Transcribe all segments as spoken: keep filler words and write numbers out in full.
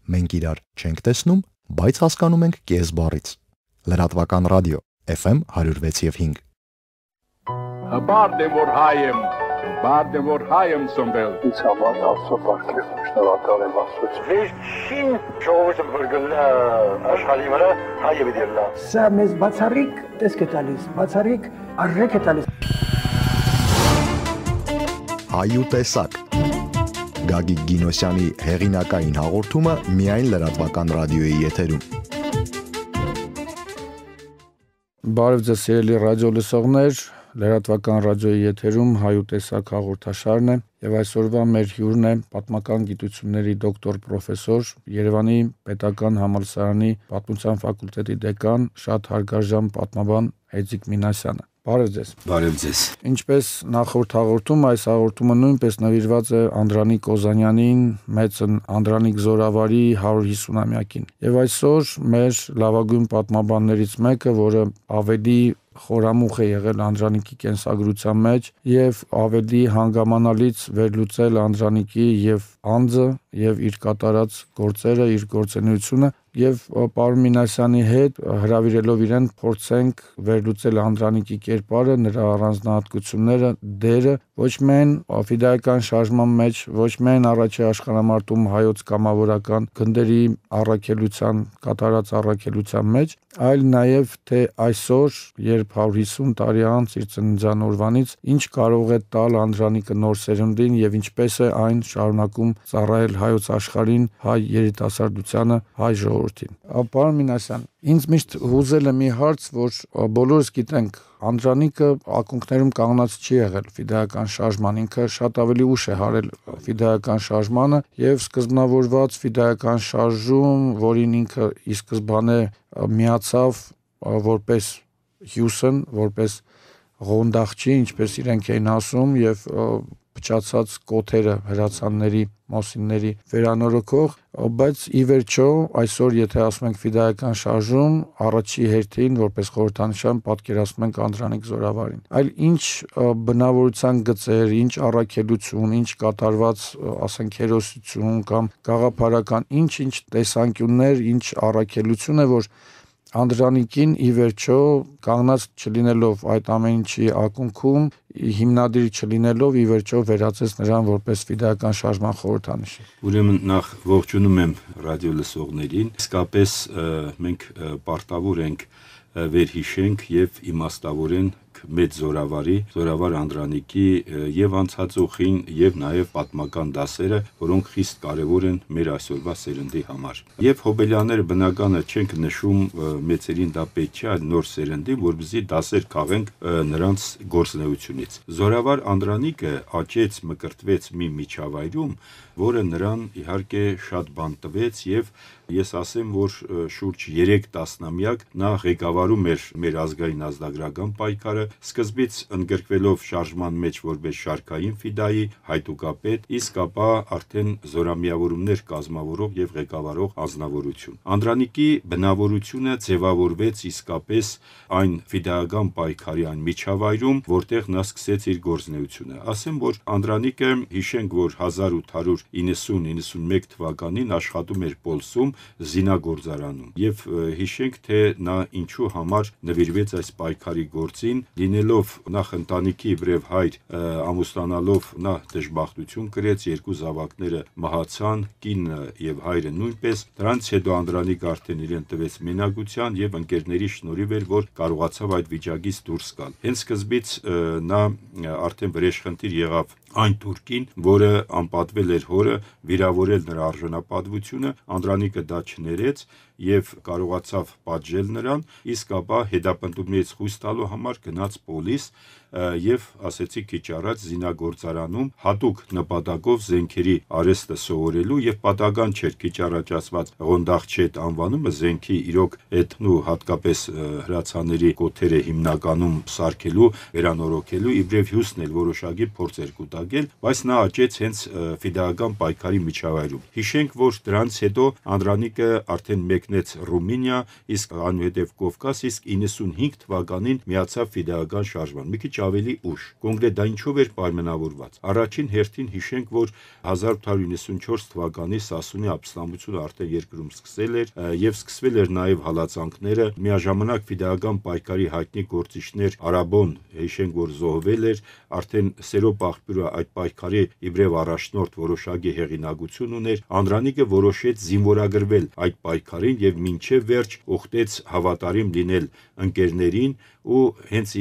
Մենք իրար չենք տեսնում, բայց հասկանում ենք կես բառից։ Լրատվական ռադիո Էֆ Էմ one oh six եւ five։ Հբարդ եմ որ հայ եմ, հբարդ եմ որ հայ եմ ծնվել։ Ինձ համար Աստծո բարգեւ շնորհակալ եմ Աստծո։ Վերջին ժողովուրդը բրգնա աշխարհի վրա հայը դիլա։ Սա մեզ բացառիկ տեսք է տալիս, բացառիկ արժեք է տալիս։ Հայ ու տեսակ։ Գագիկ Գինոսյանի հեղինակային հաղորդումը միայն լրատվական ռադիոյի եթերում։ Բարև ձեզ սիրելի ռադիո լսողներ, լրատվական ռադիոյի եթերում Հայ ու տեսակ հաղորդաշարն է եւ այսօրվա մեր հյուրն է պատմական գիտությունների դոկտոր պրոֆեսոր, Երևանի Պետական համալսարանի Պատմության ֆակուլտետի դեկան, շատ հարգարժան պատմաբան Հեծիկ Մինասյանը։ Բարև ձեզ։ Բարև ձեզ։ Ինչպես նախորդ հաղորդում, այս հաղորդումը նույնպես նվիրված է Անդրանիկ Օզանյանին, մեծն Անդրանիկ Զորավարի one hundred fifty-ամյակին։ Եվ այսօր մեր լավագույն պատմաբաններից մեկը, որը ավելի խորամուխ է եղել Անդրանիկի կենսագրության մեջ եւ ավելի հանգամանալից վերլուծել Անդրանիկի եւ անձը եւ իր կատարած գործերը, իր գործունեությունը եւ պարոն Մինասյանի հետ հրավիրելով իրեն փորձենք վերլուծել Անդրանիկի կերպարը, նրա առանձնահատկությունները, դերը ոչ միայն ֆիդայական շարժման մեջ, ոչ միայն առաջի աշխարհամարտում հայոց կամավորական գնդերի առաքելության, կատարած առաքելության մեջ, այլ նաեւ թե այսօր, երբ one hundred fifty տարի անց իր ծննդյան օրվանից ինչ կարող է տալ Անդրանիկը նոր սերնդին եւ ինչպես է այն շարունակում ծառայել հայոց աշխարհին, հայ երիտասարդությանը, հայ ժողովրդին։ Պարոն Մինասյան, ինձ միշտ հուզել է մի հարց, որ բոլորս գիտենք, Անդրանիկը ակունքներում կանգնած չի եղել ֆիդայական շարժման, ինքը շատ ավելի ուշ է հարել ֆիդայական շարժմանը եւ սկզբնավորված ֆիդայական շարժում, որին ինքը ի սկզբանե միացավ որպես հյուսն, որպես ղոնդախչի, ինչպես իրենք էին ասում, եւ փչացած կոթերը հրացանների, մոսինների վերանորոգող, բայց ի վերջո այսօր եթե ասում ենք ֆիդայական շարժում, առաջի հերթին որպես խորհրդանշան պատկերացնում ենք Անդրանիկ Զորավարին։ Այլ ինչ բնավորության գծեր, ինչ առաքելություն, ինչ կատարված, ասենք, հերոսություն կամ գաղափարական, ինչ-ինչ տեսանկյուններ, ինչ առաքելություն է, որ Անդրանիկին ի վերջո կանգնած չլինելով այդ ամեն ինչի ակունքում, հիմնադիր չլինելով ի վերջո վերածեց նրան որպես ֆիդայական շարժման խորհրդանիշ։ Ուրեմն նախ ողջունում եմ ռադիո լսողներին։ Իսկապես մենք պարտավոր ենք վերհիշենք եւ իմաստավորենք մեծ Զորավարի, Զորավար Անդրանիկի եւ անցածողին եւ նաեւ պատմական դասերը, որոնք խիստ կարեւոր են մեր այսօրվա սերնդի համար։ Եվ հոբելյանները բնականը չենք նշում մեծերին դա պետք չէ, այլ նոր սերնդին, որպեսզի դասեր քաղենք նրանց գործունեությունից։ Զորավար Անդրանիկը աճեց, մկրտվեց մի միջավայրում, որը նրան իհարկե շատ բան տվեց եւ ես ասեմ, որ շուրջ երեք տասնամյակ նա ղեկավարում էր մեր ազգային ազգագրական պայքարը, սկզբից ընդգրկվելով շարժման մեջ որպես շարքային ֆիդայի հայտուկապետ, իսկ ապա արդեն զորամիավորումներ կազմավորող եւ ղեկավարող անձնավորություն։ Անդրանիկի բնավորությունը ձևավորվեց իսկապես այն ֆիդայական պայքարի այն միջավայրում, որտեղ նա սկսեց իր գործունեությունը։ Ասեմ, որ Անդրանիկը հիշենք, որ one thousand eight hundred ninety-ninety-one թվականին աշխատում էր Պոլսում զինագործարանում եւ հիշենք, թե նա ինչու համար նվիրվեց այս պայքարի գործին, լինելով նախ ընտանիքի վրև հայր, ամուսնանալով նա դժբախտություն կրեց, երկու զավակները մահացան, կինը եւ հայրը նույնպես։ Դրանից հետո Անդրանիկը արդեն իրեն տվեց մենակության եւ ընկերների շնորհիվ էր, որ կարողացավ այդ վիճակից դուրս գալ։ Հենց սկզբից նա արդեն վրեժխնդիր եղավ այն թուրքին, որը անպատվել էր հորը, վիրավորել նրա արժանապատվությունը, Անդրանիկը դա չներեց եւ կարողացավ պատժել նրան, իսկ ապա հետապնդումներից խույս տալու համար գնաց Պոլիս եւ ասեցի քիչ առաջ զինագործարանում հատուկ նպատակով զենքերի արհեստը սովորելու եւ պատական չէր քիչ առաջ ասված ղոնդախչետ անվանումը զենքի իրոք այդ ու հատկապես հրացաների կոթերը հիմնականում սարքելու, վերանորոգելու իբրև հյուսն էլ որոշակի փորձեր կուտակել, բայց նա աճեց հենց ֆիդայական պայքարի միջավայրում։ Հիշենք, որ դրանից հետո Անդրանիկը արդեն մեկնեց Ռումինիա, իսկ այնուհետև Կովկաս, իսկ ninety-five թվականին միացավ ֆիդայական շարժման։ Մի քիչ ավելի ուշ։ Կոնկրետ դա ինչով էր պայմանավորված։ Առաջին հերթին հիշենք, որ հազար ութ հարյուր նվաթ թվականի Սասունի ապստամբությունը արդեն երկրում սկսել էր եւ սկսվել էր նաեւ հալածանքները, միաժամանակ ֆիդայական պայքարի հայտնի գործիչներ Արաբոն, հիշենք, որ զոհվել էր, արդեն Սերոբ աղբյուրը այդ պայքարի իբրև առաջնորդ որոշակի հեղինակություն ուներ, Անդրանիկը որոշեց զինվորագրվել այդ պայքարին եւ մինչեւ վերջ ուխտեց հավատարիմ լինել ընկերներին ու հենց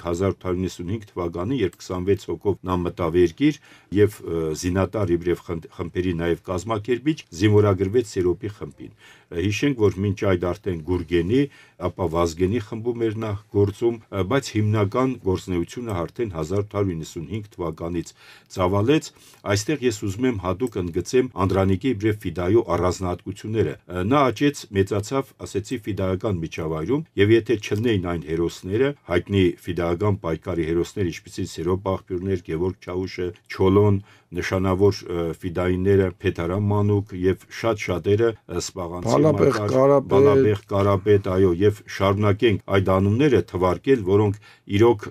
հազար ութ հարյուր նվաթ թվականին, երբ քսանվեց հոգով նա մտավ երկիր եւ զինատար իբրև խմբերի նաեւ կազմակերպիչ զինվորագրվեց Սերոբի խմբին։ Հիշենք, որ մինչ այդ արդեն Գուրգենի, ապա Վազգենի խմբում էր նա գործում, բայց հիմնական գործունեությունը արդեն հազար ութ հարյուր նվաթ թվականից ծավալեց։ Այստեղ ես ուզում եմ հատուկ ընդգծեմ Անդրանիկի իբրև ֆիդայու առանձնահատկությունները։ Նա աճեց, մեծացավ, ասեցի, ֆիդայական միջավայրում եւ եթե չլինեին այն հերոսները, հայտնի ֆիդայական պայքարի հերոսներ, ինչպիսին Սերոբ աղբյուրներ, Գևորգ Չաուշը, Չոլոն, նշանավոր ֆիդայինները, Փեթարամ Մանուկ եւ շատ շատերը Սպաղանցի Մակար, Բալաբեղ Կարապետ, այո, եւ շարունակենք այդ անունները թվարկել, որոնք իրոք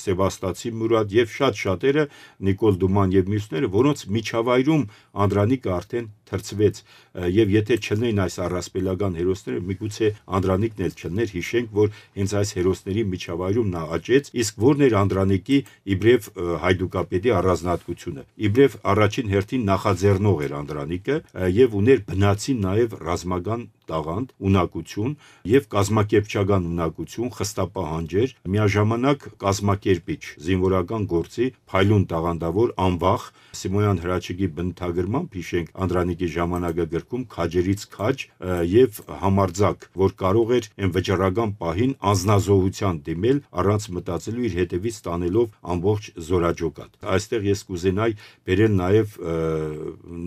Սեբաստացի Մուրադ եւ շատ շատերը Նիկոլ Դուման եւ մյուսները, որոնց միջավայրում Անդրանիկը արդեն թրծվեց եւ եթե չլինեին այս առասպելական հերոսները, միգուցե Անդրանիկն էլ չլներ, հիշենք, որ հենց այս հերոսների միջավայրում նա աճեց, իսկ որն էր Անդրանիկի իբրև հայդուկապետի առանձնահատկությունը։ Իբրև առաջին հերթին նախաձեռնող էր Անդրանիկը եւ ուներ բնածին նաեւ ռազմական տաղանդ, ունակություն եւ կազմակերպչական ունակություն, խստապահանջեր, միաժամանակ կազմակերպիչ, զինվորական գործի փայլուն տաղանդավոր, անվախ, Սիմոյան Հրաչիկի բնութագրմամբ հիշենք Անդրանիկի ժամանակը գրքում քաջերից քաջ եւ համարձակ, որ կարող էր այն վճռական պահին անznազողության դիմել առանց մտածելու իր հետևից տանելով ամբողջ զորաճոկատ։ Այստեղ ես կուզենայի բերել նաեւ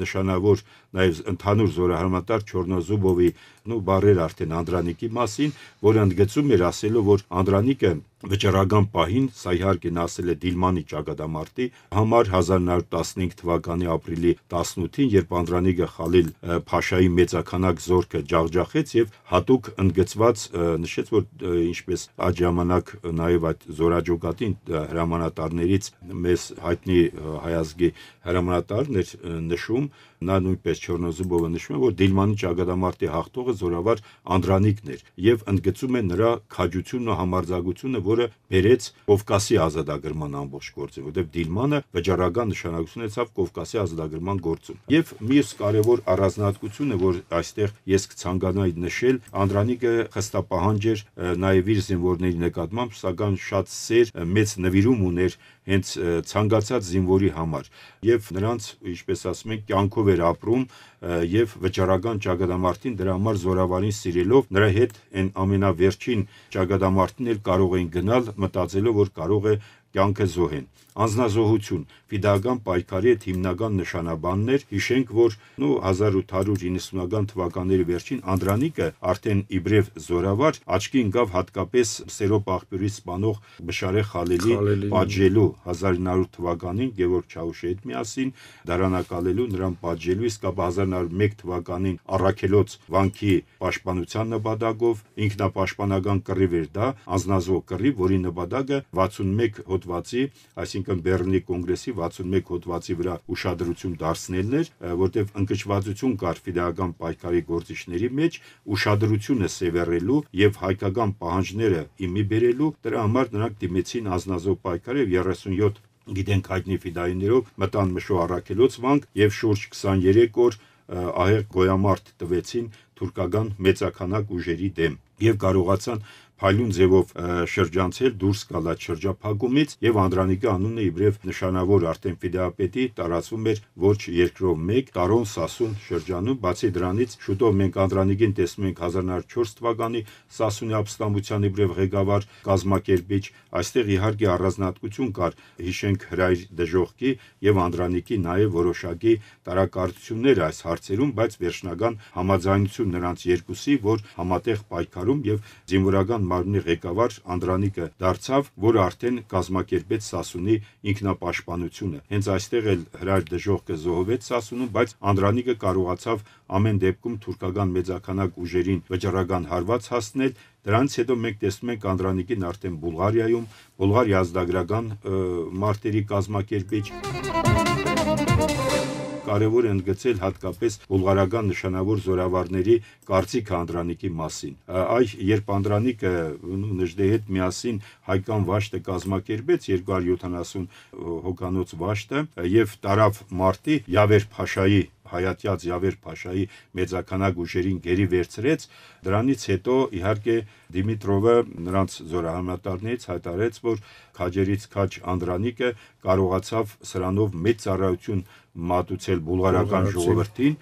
նշանավոր նաեւ ընդհանուր զորահարմատար Չորնոզուբովի նու բարեր արդեն Անդրանիկի մասին, որը ընդգծում էր ասելով, որ Անդրանիկը վճռական պահին, սա իհարկե նա ասել է Դիլմանի ճակատամարտի համար հազար նոր տասնհինգ թվականի ապրիլի տասնութին, երբ Անդրանիկը Խալիլ Փաշայի մեծականակ զորքը ջախջախեց եւ հատուկ ընդգծված նշեց, որ ինչպես այդ ժամանակ նաեւ այդ զորաճոկատին հրամանատարներից մեզ հայտնի հայազգի հրամանատարն էր նշում, նա նույնպես Չորնոզուբովը նշում է, որ Դիլմանի ճակատամարտի հաղթողը զորավար Անդրանիկն էր եւ ընդգծում է նրա քաջությունն ու համարձակությունը, որը բերեց Կովկասի ազատագրման ամբողջ գործը, որտեղ Դիլմանը վճռական նշանակություն ունեցավ Կովկասի ազատագրման գործում։ Եվ մյուս կարևոր առանձնահատկությունը, որ այստեղ ես կցանկանայի նշել, Անդրանիկը խստապահանջ էր նաեւ իր զինվորների նկատմամբ, սակայն շատ սեր, մեծ նվիրում ուներ հենց ցանկացած զինվորի համար եւ նրանց, ինչպես ասում են, կյանքով էր ապրում եւ վճռական ճակատամարտին դրա համար զորավարին սիրելով նրա հետ այն ամենավերջին ճակատամարտին էլ կարող էին գնալ մտածելով, որ կարող է կյանքը զոհեն։ Անznազոհություն ֆիդայական պայքարի հետ հիմնական նշանաբանն էր, հիշենք, որ նու հազար ութ հարյուր նվաթ թվականների վերջին Անդրանիկը արդեն իբրև զորավար աչքի ընկավ հատկապես Սերոբ աղբյուրի սպանող Բշարե Խալիլի պատժելու հազար նոր թվականին Գևորգ Չաուշի հետ միասին դարանակալելու նրան պատժելու, իսկ ապա հազար նոր մեկ թվականին Առաքելոց վանքի պաշտպանության նպատակով ինքնապաշտպանական կռիվ էր դա, անznազոհ կռիվ, որի նպատակը վաթսունմեկ հոդվածի, այսինքն Բեռլինի կոնգրեսի վաթսունմեկ հոդվածի վրա ուշադրություն դարձնելն էր, որտեղ ընկճվածություն կար ֆիդայական պայքարի գործիչների մեջ, ուշադրությունը սևեռելու եւ հայկական պահանջները իմի բերելու, դրա համար նրանք դիմեցին անznազոհ պայքարի եւ երեսունյոթ գիտենք հայտնի ֆիդայիներով մտան Մշո Առաքելոց վանք եւ շուրջ քսաներեք օր ահեղ գոյամարտ տվեցին թուրքական մեծականակ ուժերի դեմ եւ կարողացան փայլուն ձևով շրջանցել դուրս գալ այդ շրջափակումից եւ Անդրանիկի անունը իբրև նշանավոր արդեն ֆիդայապետի տարածվում էր ոչ երկրով մեկ Տարոն Սասուն շրջանում, բացի դրանից շուտով մենք Անդրանիկին տեսնում ենք հազար նոր չորս թվականի Սասունի ապստամբության իբրև ղեկավար կազմակերպիչ, այստեղ իհարկե առանձնահատկություն կար, հիշենք հրայր դժոխքի եւ Անդրանիկի նաեւ որոշակի տարակարծություններ այս հարցերում, բայց վերջնական համաձայնություն նրանց երկուսի, որ համատեղ պայքարում եւ զինվորական Գյուղատնտեսական մարմնի ղեկավար Անդրանիկը դարձավ, որը արդեն կազմակերպեց Սասունի ինքնապաշտպանությունը։ Հենց այստեղ էլ հրար դժոխքը զոհվեց Սասունում, բայց Անդրանիկը կարողացավ ամեն դեպքում թուրքական մեծաքանակ ուժերին վճռական հարված հասնել։ Դրանից հետո մենք տեսնում ենք Անդրանիկին արդեն Բուլղարիայում, Բուլղարիա ազգագրական մարտերի կազմակերպիչ։ Կարևոր է ընդգծել հատկապես բուլղարական նշանավոր զորավարների կարծիքը Անդրանիկի մասին։ Այ երբ Անդրանիկը Նժդեի հետ միասին հայկական վաշտը կազմակերպեց երկու հարյուր յոթանասուն հոգանոց վաշտը եւ տարավ մարտի Յավեր Փաշայի հայատյաց Յավեր Փաշայի մեծաքանակ ուժերին գերի վերցրեց, դրանից հետո իհարկե Դիմիտրովը նրանց զորահամատարներից հայտարարեց, որ քաջերից քաջ Անդրանիկը կարողացավ սրանով մեծ ծառայություն մատուցել բուլղարական ժողովրդին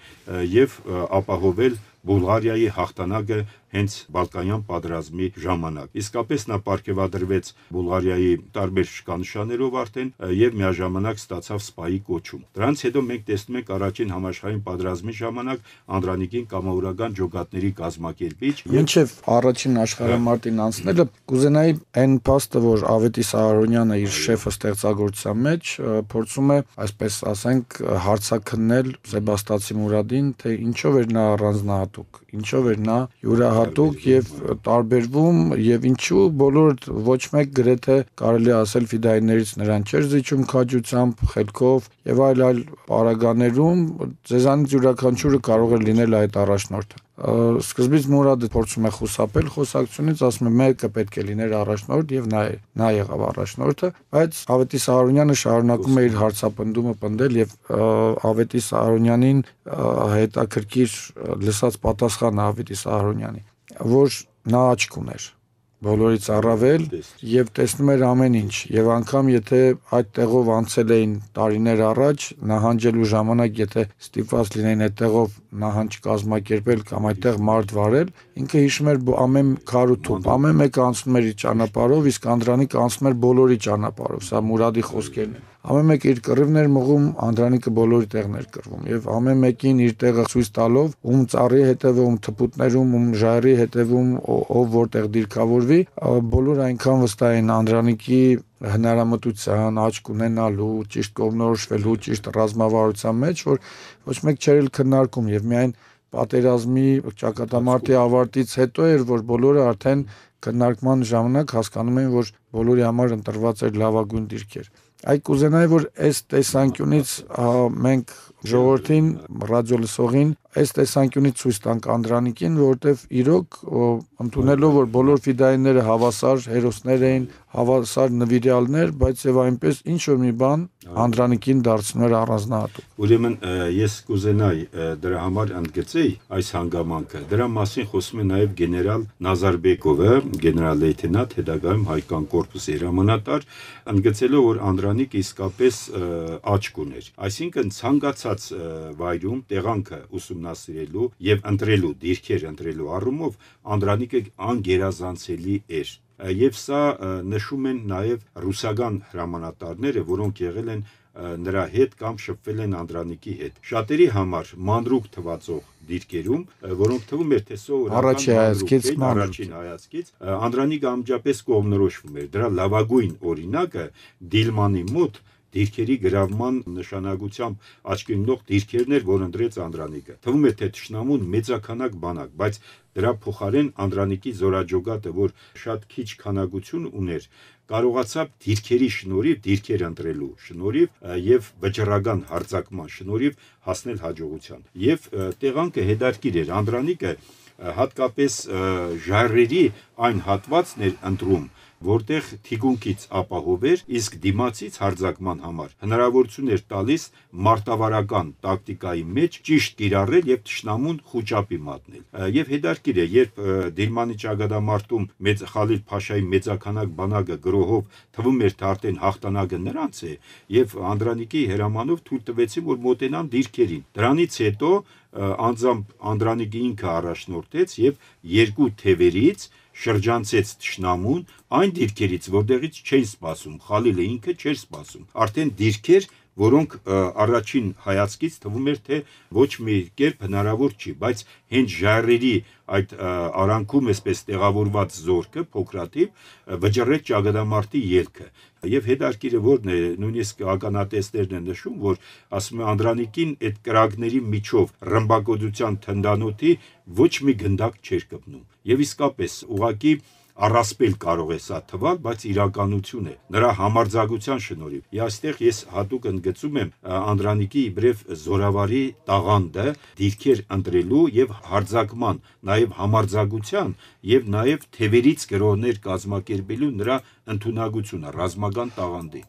եւ ապահովել Բուլղարիայի հաղթանակը հենց Բալկանյան պատերազմի ժամանակ։ Իսկապես նա պարգևադրվեց Բուլղարիայի տարբեր շքանշաններով արդեն եւ միաժամանակ ստացավ սպայի կոչում։ Դրանից հետո մենք տեսնում ենք առաջին համաշխարհային պատերազմի ժամանակ Անդրանիկին կամավորական ջոկատների կազմակերպիչ։ Մինչև առաջին աշխարհամարտին անցնելը կուզենայի այն փաստը, որ Ավետիս Ահարոնյանը իր շեֆը ստեղծագործության մեջ փորձում է, այսպես ասենք, հարցաքննել Սեբաստացի Մուրադին, թե ինչով էր նա առանձնահատուկ, ինչով էր նա յուրահատուկ եւ տարբերվում եւ ինչու բոլոր ոչ մեկ գրեթե կարելի ասել ֆիդայիներից նրան չէր զիջում քաջությամբ, խելքով եւ այլ այլ պարագաներում ձեզանից յուրաքանչյուրը կարող է լինել այդ առաջնորդը։ Սկզբից Մուրադը փորձում է խուսափել խոսակցությունից, ասում է մեկը պետք է լիներ առաջնորդ եւ նա նա եղավ առաջնորդը, բայց Ավետիս Ահարոնյանը շարունակում է իր հարցապնդումը պնդել եւ Ավետիս Ահարոնյանին հետաքրքիր լսած պատասխանը Ավետիս Ահարոնյանի, որ նա աչք ուներ բոլորից առավել եւ տեսնում էր ամեն ինչ եւ անգամ եթե այդ տեղով անցել էին տարիներ առաջ նահանջելու ժամանակ եթե ստիպված լինեին այդ տեղով նահանջ կազմակերպել կամ այդտեղ մարդ վարել ինքը հիշում էր ամեն քար ու թուփ ամեն մեկը անցնում էր իր ճանապարհով իսկ Անդրանիկը անցնում էր բոլորի ճանապարհով սա Մուրադի խոսքերն են ամեն մեկը իր կռիվն էր մղում Անդրանիկը բոլորի տեղն էր կռվում եւ ամեն մեկին իր տեղը ցույց տալով ում ծառի հետևում ում թփուտներում ում ժայռի հետևում ով որտեղ դիրքավորվի բոլորը այնքան վստահ են Անդրանիկի հնարամտության, աչք ունենալու, ճիշտ կողմնորոշվելու, ճիշտ ռազմավարության մեջ, որ ոչ մեկ չէր քննարկում եւ միայն պատերազմի ճակատամարտի ավարտից հետո էր, որ բոլորը արդեն քննարկման ժամանակ հասկանում էին, որ բոլորի համար ընտրված էր լավագույն դիրքեր։ Այ կուզենայի, որ այս տեսանկյունից մենք ժողովրդին, ռադիո լսողին, այս տեսանկյունից ցույց տանք Անդրանիկին, որովհետև իրոք ընդունելով, որ բոլոր ֆիդայինները հավասար հերոսներ էին, հավասար նվիրյալներ, բայց եւ այնպես ինչ որ մի բան Անդրանիկին դարձնում էր առանձնահատուկ։ Ուրեմն ես կուզենայի դրա համար ընդգծեի այս հանգամանքը։ Դրա մասին խոսում է նաեւ գեներալ Նազարբեկովը, գեներալ-լեյտենանտ, հետագայում հայկական կորպուսի հրամանատար, ընդգծելով, որ Անդրանիկը իսկապես աչք ուներ։ Այսինքն ցանկացած վայրում տեղանքը ուսումնասիրելու եւ ընտրելու դիրքեր ընտրելու առումով Անդրանիկը անգերազանցելի էր։ Եվ սա նշում են նաև ռուսական հրամանատարները, որոնք եղել են նրա հետ կամ շփվել են Անդրանիկի հետ։ Շատերի համար մանրուկ թվացող դիրքերում, որոնք թվում էր թե սովորական առաջին հայացքից, Անդրանիկը ամջապես կողմնորոշվում էր։ Դրա լավագույն օրինակը Դիլմանի մոտ դիրքերի գրավման նշանակությամբ աչքի ընկնող դիրքերն էր, որ ընտրեց Անդրանիկը։ Թվում է թե թշնամուն մեծաքանակ բանակ, բայց դրա փոխարեն Անդրանիկի զորաջոգատը, որ շատ քիչ քանակություն ուներ, կարողացավ դիրքերի շնորհիվ, դիրքեր ընտրելու շնորհիվ եւ վճռական հարձակման շնորհիվ հասնել հաջողության։ Եվ տեղանքը հետարքիր էր Անդրանիկը հատկապես ժայռերի այն հատվածն էր ընտրում, որտեղ թիկունքից ապահով էր, իսկ դիմացից հարձակման համար հնարավորություն էր տալիս մարտավարական տակտիկայի մեջ ճիշտ կիրառել եւ թշնամուն խոճապի մատնել։ Եվ հետարքիր է, երբ Դիլմանի ճակատամարտում մեծ Խալիլ Փաշայի մեծաքանակ բանակը գրոհով թվում էր թե արդեն հաղթանակը նրանց է, եւ Անդրանիկի հրամանով թույլ տվեցին, որ մոտենան դիրքերին։ Դրանից հետո անձամբ Անդրանիկը ինքը առաջնորդեց եւ երկու թևերից շրջանցեց թշնամուն այն դիրքերից, որտեղից չէին սպասում, Խալիլը ինքը չէր սպասում։ Արդեն դիրքեր որոնք առաջին հայացքից թվում էր, թե ոչ մի կերպ հնարավոր չի, բայց հենց ժայռերի այդ արանքում այսպես տեղավորված զորքը փոքրաթիվ վճռեց ճակատամարտի ելքը եւ հետարքիրը որն է նույնիսկ ականատեսներն են նշում, որ ասում է Անդրանիկին այդ կրակների միջով ռմբակոծության թնդանոթի ոչ մի գնդակ չէր կպնում եւ իսկապես ուղղակի առասպել կարող է սա թվալ, բայց իրականություն է նրա համարձակության շնորհիվ։ Եվ այստեղ ես հատուկ ընդգծում եմ Անդրանիկի իբրև զորավարի տաղանդը դիրքեր ընտրելու եւ հարձակման, նաեւ համարձակության եւ նաեւ թևերից գրոհներ կազմակերպելու նրա ընդունակությունը ռազմական տաղանդի։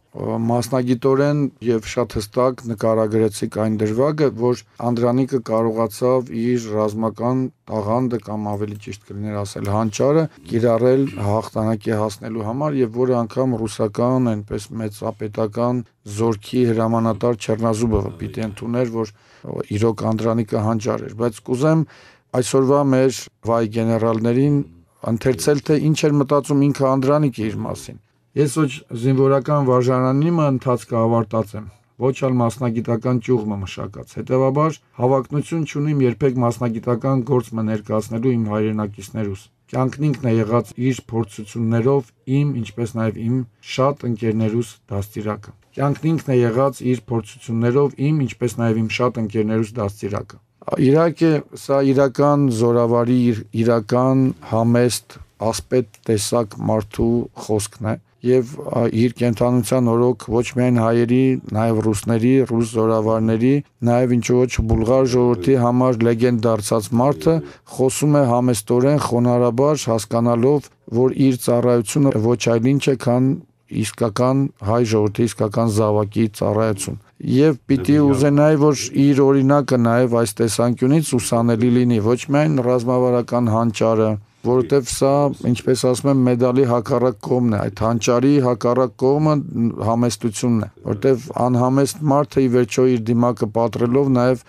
Մասնագիտորեն եւ շատ հստակ նկարագրեցիք այն դրվագը, որ Անդրանիկը կարողացավ իր ռազմական տաղանդը կամ ավելի ճիշտ կլիներ ասել հանճարը կիրառել հաղթանակի հասնելու համար եւ որը անգամ ռուսական այնպես մեծապետական զորքի հրամանատար Չեռնազուբովը պիտի ընդուներ, որ իրոք Անդրանիկը հանճար էր, բայց կուզեմ այսօրվա մեր վայ գեներալներին ընթերցել, թե ինչ էր մտածում ինքը Անդրանիկը իր մասին։ Ես ոչ զինվորական վարժանանիմը ընթացքը ավարտած եմ, ոչ էլ մասնագիտական ճյուղը մշակած։ Հետևաբար հավակնություն չունիմ երբեք մասնագիտական գործը ներկայացնելու իմ հայրենակիցներուս։ Կյանքն ինքն է եղած իր փորձություններով իմ, ինչպես նաև իմ շատ ընկերներուս դաստիարակը։ Կյանքն ինքն է եղած իր փորձություններով իմ, ինչպես նաև իմ շատ ընկերներուս դաստիարակը։ Իհարկե, սա իրական զորավարի, իրական համեստ ասպետ տեսակ մարդու խոսքն է եւ իր կենթանության օրոք ոչ միայն հայերի, նաեւ ռուսների, ռուս զորավարների, նաեւ ինչ ոչ բուլղար ժողովրդի համար լեգենդ դարձած մարդը խոսում է համեստորեն, խոնարհաբար, հասկանալով, որ իր ծառայությունը ոչ այլ ինչ է, քան իսկական հայ ժողովրդի իսկական զավակի ծառայություն։ Եվ պիտի ուզենայի, որ իր օրինակը նաեւ այս տեսանկյունից ուսանելի լինի, ոչ միայն ռազմավարական հանճարը, որովհետև սա, ինչպես ասում եմ, մեդալի հակառակ կողմն է, այդ հանճարի հակառակ կողմը համեստությունն է, որովհետև անհամեստ մարդը ի վերջո իր դիմակը պատրելով նաև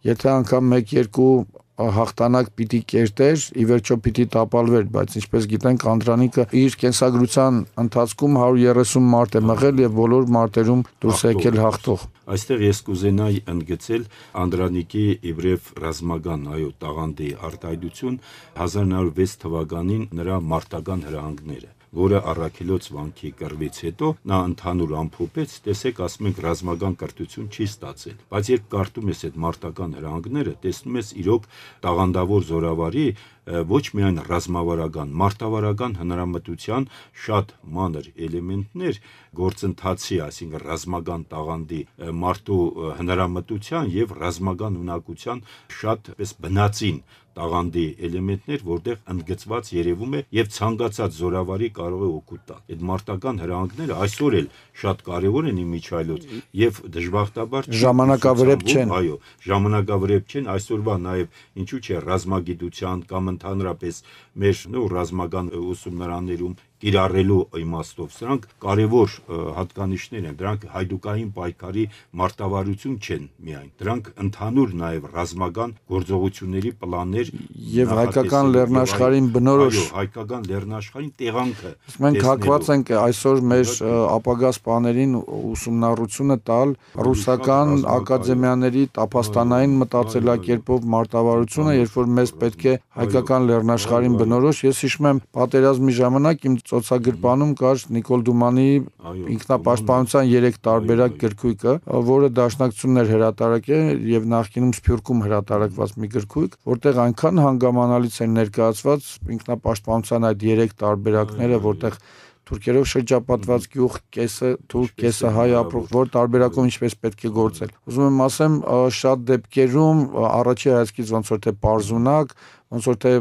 եթե անգամ մեկ-երկու հաղթանակ պիտի կերտեր, ի վերջո պիտի տապալվեր, բայց ինչպես գիտենք Անդրանիկը իր կենսագրության ընթացքում հարյուր երեսուն մարդ է մղել եւ բոլոր մարտերում դուրս եկել հաղթող։ Այստեղ ես կուզենայի ընդգծել Անդրանիկի իբրև ռազմական այո տաղանդի արտահայտություն հազար նոր վեց թվականին նրա մարտական հրահանգները, որը առաքելոց վանքի կռվից հետո նա ընդհանուր ամփոփեց, տեսեք, ասում ենք ռազմական կրթություն չի ստացել, բայց երբ կարդում ես այդ մարտական հրահանգները, տեսնում ես իրոք տաղանդավոր զորավարի ոչ միայն ռազմավարական, մարտավարական հնարամտության շատ մանր էլեմենտներ գործընթացի, այսինքն ռազմական տաղանդի մարդու հնարամտության եւ ռազմական ունակության շատ պես բնածին տաղանդի էլեմենտներ, որտեղ ընդգծված երևում է եւ ցանկացած զորավարի կարող է օգուտ տալ։ Այդ մարտական հրահանգները այսօր էլ շատ կարեւոր են իմիջայլոց եւ դժբախտաբար ժամանակավրեպ չեն։ Այո, ժամանակավրեպ չեն, այսօրվա նաեւ ինչու՞ չէ ռազմագիտության կամ ընդհանրապես մեր նո ռազմական ուսումնարաններում կիրառելու իմաստով սրանք կարևոր հատկանիշներ են, դրանք հայդուկային պայքարի մարտավարություն չեն միայն, դրանք ընդհանուր նաև ռազմական գործողությունների պլաններ եւ հայկական լեռնաշխարհին բնորոշ, այո, հայկական լեռնաշխարհին տեղանքը։ Մենք հակված ենք այսօր մեր ապագա սպաներին ուսումնառությունը տալ ռուսական ակադեմիաների տափաստանային մտածելակերպով մարտավարությունը, երբ որ մեզ պետք է հայկական լեռնաշխարհին բնորոշ։ Ես հիշում եմ պատերազմի ժամանակ իմ ծոցագրպանում կար Նիկոլ Դումանի ինքնապաշտպանության երեք տարբերակ գրքույկը, որը Դաշնակցությունն էր հրատարակել եւ նախկինում Սփյուռքում հրատարակված մի գրքույկ, որտեղ այնքան հանգամանալից են ներկայացված ինքնապաշտպանության այդ երեք տարբերակները, որտեղ թուրքերով շրջապատված գյուղ, կեսը թուրք, կեսը հայ ապրող, որ տարբերակում ինչպես պետք է գործել։ Ուզում եմ ասեմ, շատ դեպքերում առաջի հայացքից ոնց որ թե պարզունակ, ոնց որ թե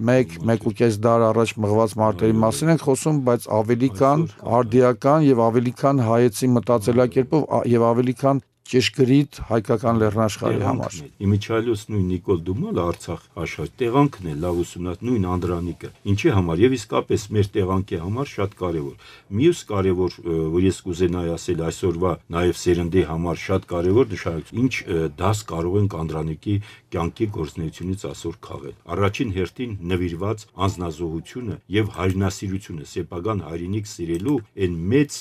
մեկ, մեկ ու կես դար առաջ մղված մարտերի մասին ենք խոսում, բայց ավելի քան արդիական եւ ավելի քան հայեցի մտածելակերպով եւ ավելի քան ճշգրիտ հայկական լեռնաշխարհի համար։ Իմիջիայլոց նույն Նիկոլ Դումոլը Արցախ աշխարհ տեղանքն է լավ ուսումնած նույն Անդրանիկը։ Ինչի համար եւ իսկապես մեր տեղանքի համար շատ կարեւոր։ Մյուս կարեւոր, որ ես կուզենայի ասել այսօրվա նաեւ սերնդի համար շատ կարեւոր նշանակություն, ինչ դաս կարող ենք Անդրանիկի կյանքի գործունեությունից այսօր քաղել։ Առաջին հերթին նվիրված անձնազոհությունը եւ հայրենասիրությունը, սեփական հայրենիք սիրելու այն մեծ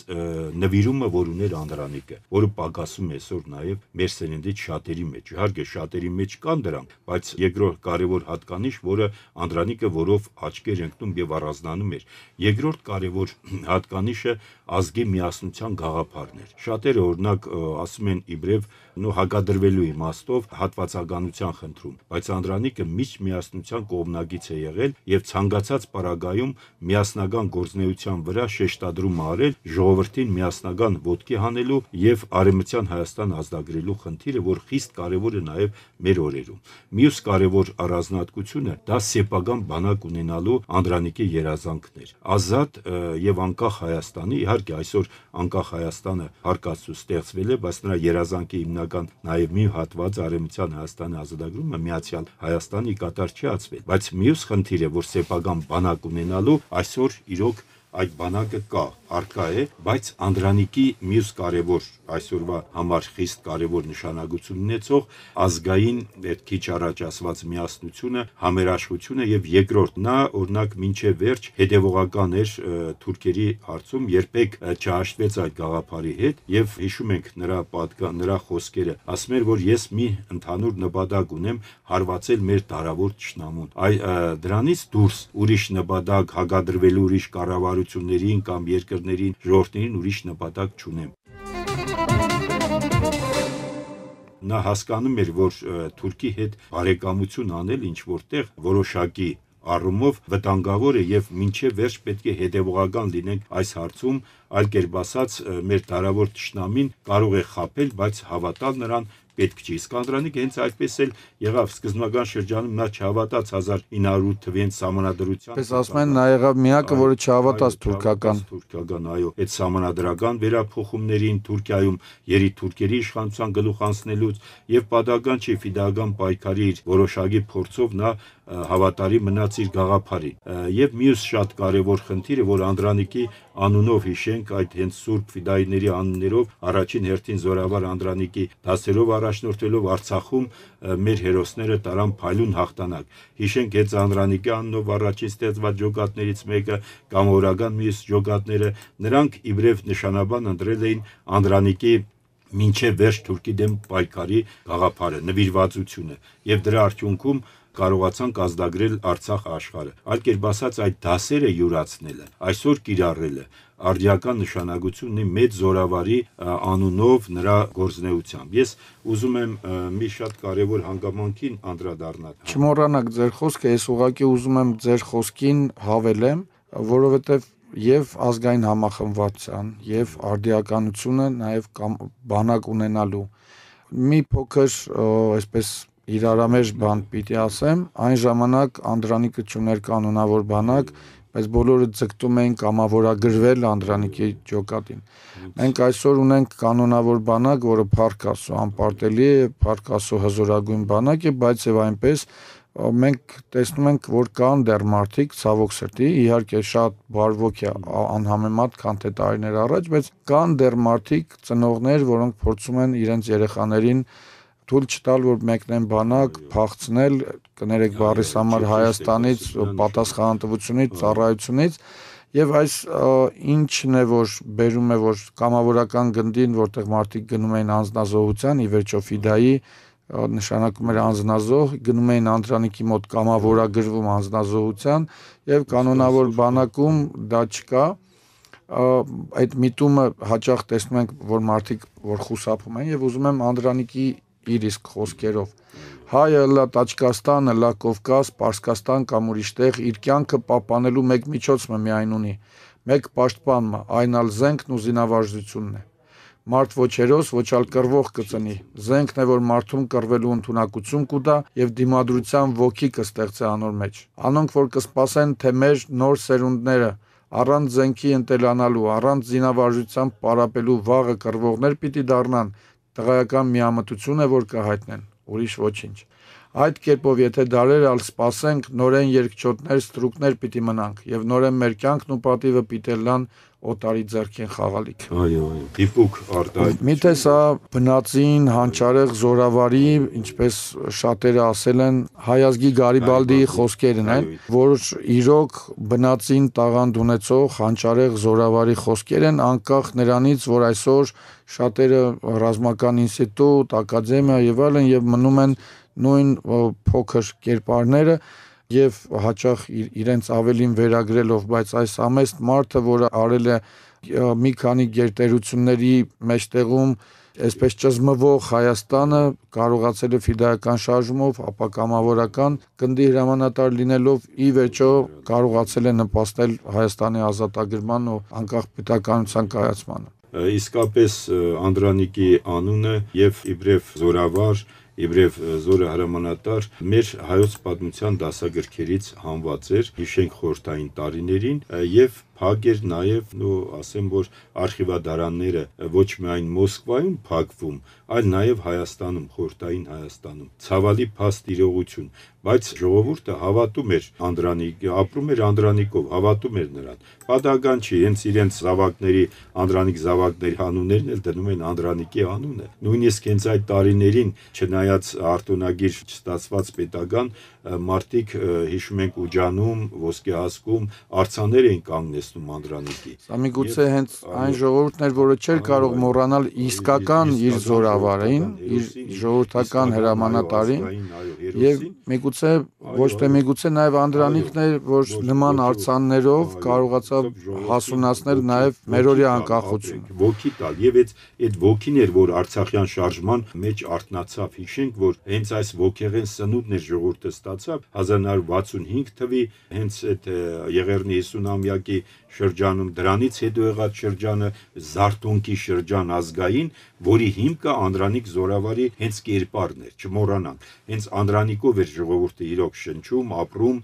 նվիրումը, որ ուներ Անդրանիկը, որը պակասում է այսօր նաեւ մեր սերնդից շատերի մեջ։ Իհարկե շատերի մեջ կան դրանք, բայց երկրորդ կարևոր հատկանիշ, որը Անդրանիկը որով աչքեր ընկնում եւ առանձնանում էր։ Երկրորդ կարևոր հատկանիշը ազգի միասնության գաղափարն էր։ Շատերը օրինակ ասում են իբրև նո հակադրվելու իմաստով հատվածականության խնդրում, բայց Անդրանիկը միշտ միասնության կողմնակից է եղել եւ ցանկացած պարագայում միասնական գործնեության վրա շեշտադրում արել ժողովրդին միասնական ոտքի հանելու եւ արեմտյան Հայաստան ազդագրելու խնդիրը, որ խիստ կարեւոր է նաեւ մեր օրերում։ Մյուս կարեւոր առանձնահատկությունը դա սեփական բանակ ունենալու Անդրանիկի երազանքն էր։ Ազատ եւ անկախ Հայաստանի, իհարկե այսօր անկախ Հայաստանը հարկածու ստեղծվել է, բայց նրա երազանքի հիմնական նաեւ մի հատված արեմտյան Հայաստանի ազատագրումը միացյալ Հայաստանի կատար չի ածվել, բայց մյուս խնդիրը, որ սեփական բանակ ունենալու այսօր իրոք այդ բանակը կա, արկա է, բայց Անդրանիկի մյուս կարևոր այսօրվա համար խիստ կարևոր նշանակություն ունեցող ազգային այդ քիչ առաջ ասված միասնությունը, համերաշխությունը եւ երկրորդ նա օրինակ մինչեւ վերջ հետեւողական էր թուրքերի հարցում, երբեք չհաշտվեց այդ գաղափարի հետ եւ հիշում ենք նրա պատկան, նրա խոսքերը, ասում էր, որ ես մի ընդհանուր նպատակ ունեմ հարվածել մեր դարավոր ճշնամուն։ Այ դրանից դուրս ուրիշ նպատակ հագադրվելու ուրիշ կառավարություն կամ երկրներին, ժողովրդներին ուրիշ նպատակ չունեմ։ Նա հասկանում էր, որ Թուրքի հետ բարեկամություն անել ինչ որտեղ որոշակի առումով վտանգավոր է եւ մինչեւ վերջ պետք է հետեւողական լինենք այս հարցում, այլ կերպ ասած մեր դարավոր ճշնամին կարող է խաբել, բայց հավատալ նրան պետք չի։ Իսկ Անդրանիկը հենց այդպես էլ եղավ սկզբնական շրջանում նա չհավատաց հազար ինը հարյուր թվին սահմանադրության։ Պես ասում են նա եղավ միակը, որը չհավատաց թուրքական։ Թուրքական, այո, այդ սահմանադրական վերափոխումներին Թուրքիայում երիտուրքերի իշխանության գլուխ անցնելուց եւ պատահական չի ֆիդայական պայքարի իր որոշակի փորձով նա հավատարի մնաց իր գաղափարին։ Եվ մյուս շատ կարևոր խնդիրը, որ Անդրանիկի անունով հիշենք այդ հենց Սուրբ Ֆիդայիների անուններով առաջին հերթին Զորավար Անդրանիկի դասերով առաջնորդելով Արցախում մեր հերոսները տարան փայլուն հաղթանակ։ Հիշենք հենց Անդրանիկի անունով առաջին ստեղծված ջոկատներից մեկը կամ օրական մյուս ջոկատները, նրանք իբրև նշանաբան ընտրել էին Անդրանիկի մինչև վերջ Թուրքի դեմ պայքարի գաղափարը, նվիրվածությունը եւ դրա արդյունքում կարողացանք ազդագրել Արցախ աշխարհը։ Այլ կերպ ասած այդ դասերը յուրացնելը, այսօր կիրառելը արդիական նշանակություն ունի մեծ Զորավարի անունով նրա գործնեությամբ։ Ես ուզում եմ մի շատ կարևոր հանգամանքին անդրադառնալ։ Չմոռանաք ձեր խոսքը, ես ուղղակի ուզում եմ ձեր խոսքին հավելեմ, որովհետև եւ ազգային համախմբվածության եւ արդիականությունը նաեւ բանակ ունենալու մի փոքր այսպես իրարամերժ բան պիտի ասեմ, այն ժամանակ Անդրանիկը չուներ կանոնավոր բանակ, բայց բոլորը ձգտում էին կամավորագրվել Անդրանիկի ջոկատին։ Մենք այսօր ունենք կանոնավոր բանակ, որը փառքասու անպարտելի է, փառքասու հզորագույն բանակ է, բայց եւ այնպես մենք տեսնում ենք, որ կան դեռ մարդիկ, ցավոք սրտի, իհարկե շատ բարվոք է անհամեմատ, քան թե տարիներ առաջ, բայց կան դեռ մարդիկ, ծնողներ, որոնք փորձում են իրենց երեխաներին թույլ չտալ, որ մեկնեն բանակ, փախցնել, կներեք բառիս համար Հայաստանից, պատասխանատվությունից, ծառայությունից, եւ այս ինչն է, որ բերում է, որ կամավորական գնդին, որտեղ մարդիկ գնում էին անձնազոհության, ի վերջո Ֆիդայի նշանակում էր անձնազոհ, գնում էին Անդրանիկի մոտ կամավորագրվում անձնազոհության եւ կանոնավոր բանակում դա չկա։ Այդ միտումը հաճախ տեսնում ենք, որ մարդիկ որ խուսափում են եւ ուզում եմ Անդրանիկի իր իսկ խոսքերով հայը լա Տաճկաստանը, լա Կովկաս, Պարսկաստան կամ ուրիշտեղ իր կյանքը պահպանելու մեկ միջոցը միայն ունի, մեկ պաշտպանումը, այն ալ զենքն ու զինավարժությունն է։ Մարդ ոչ հերոս, ոչ ալ կռվող կծնի։ Զենքն է, որ մարդուն կռվելու ընդունակություն կուտա եւ դիմադրության ոգի կստեղծի անոր մեջ։ Անոնք, որ կսպասեն, թե մեր նոր սերունդները առանց զենքի ընտելանալու, առանց զինավարժության պարապելու վաղը կռվողներ պիտի դառնան, տղայական միամտություն է, որ կհայտնեն, ուրիշ ոչինչ։ Այդ կերպով եթե դարեր ալ սպասենք, նորեն երկչոտներ, ստրուկներ պիտի մնանք եւ նորեն մեր կյանքն ու պատիվը պիտի լան օտարի ձեռքին խաղալիք։ Այո, այո, դիպուկ արտահայտություն։ Միթե սա բնածին, հանճարեղ, զորավարի, ինչպես շատերը ասել են, հայազգի Գարիբալդիի խոսքերն են, որ իրոք բնածին տաղանդ ունեցող հանճարեղ զորավարի խոսքեր են, անկախ նրանից, որ այսօր շատերը ռազմական ինստիտուտ, ակադեմիա եւ այլն եւ մնում են նույն փոքր կերպարները եւ հաճախ իրենց ավելին վերագրելով, բայց այս ամեստ մարդը, որը արել է մի քանի գերտերությունների մեջտեղում այսպես ճզմվող Հայաստանը, կարողացել է ֆիդայական շարժումով, ապակամավորական գնդի հրամանատար լինելով ի վերջո կարողացել է նպաստել Հայաստանի ազատագրման ու անկախ պետականության կայացմանը։ Իսկապես Անդրանիկի անունը եւ իբրև զորավար Իբրև զորը հրամանատար մեր հայոց պատմության դասագրքերից հանված էր հիշենք խորհրդային տարիներին եւ փակ էր նաեւ ու ասեմ որ արխիվադարանները ոչ միայն Մոսկվայում փակվում, այլ նաեւ Հայաստանում, խորհրդային Հայաստանում։ Ցավալի փաստ իրողություն, բայց ժողովուրդը հավատում էր Անդրանիկի, ապրում էր Անդրանիկով, հավատում էր նրան։ Պատահական չի, հենց իրենց զավակների Անդրանիկ զավակների անուններն էլ դնում են Անդրանիկի անունը։ Նույնիսկ հենց այդ տարիներին չնայած արտոնագիր չստացված պետական մարդիկ հիշում ենք Ուջանում, Ոսկեհասկում արձաներ էին կանգնեցնում Անդրանիկի։ Սա միգուցե հենց այն ժողովուրդն էր, որը չէր կարող մոռանալ իսկական իր զորավարին, իր ժողովրդական հրամանատարին, եւ միգուցե ոչ թե միգուցե նաեւ Անդրանիկն էր, որ նման արձաններով կարողացավ հասունացնել նաեւ մերօրյա անկախությունը։ Ոգի տալ եւ այդ այդ ոգին էր, որ Արցախյան շարժման մեջ արտնացավ։ Հիշենք, որ հենց այս ոգեղեն սնունդն էր ժողովուրդը ստացավ հազար նոր վաթսունհինգ թվի հենց այդ Եղեռնի հիսունամյակի շրջանում, դրանից հետո եղած շրջանը Զարտոնկի շրջան ազգային, որի հիմքը Անդրանիկ զորավարի հենց կերպարն էր, չմոռանանք։ Հենց Անդրանիկով էր ժողովուրդը իրոք շնչում, ապրում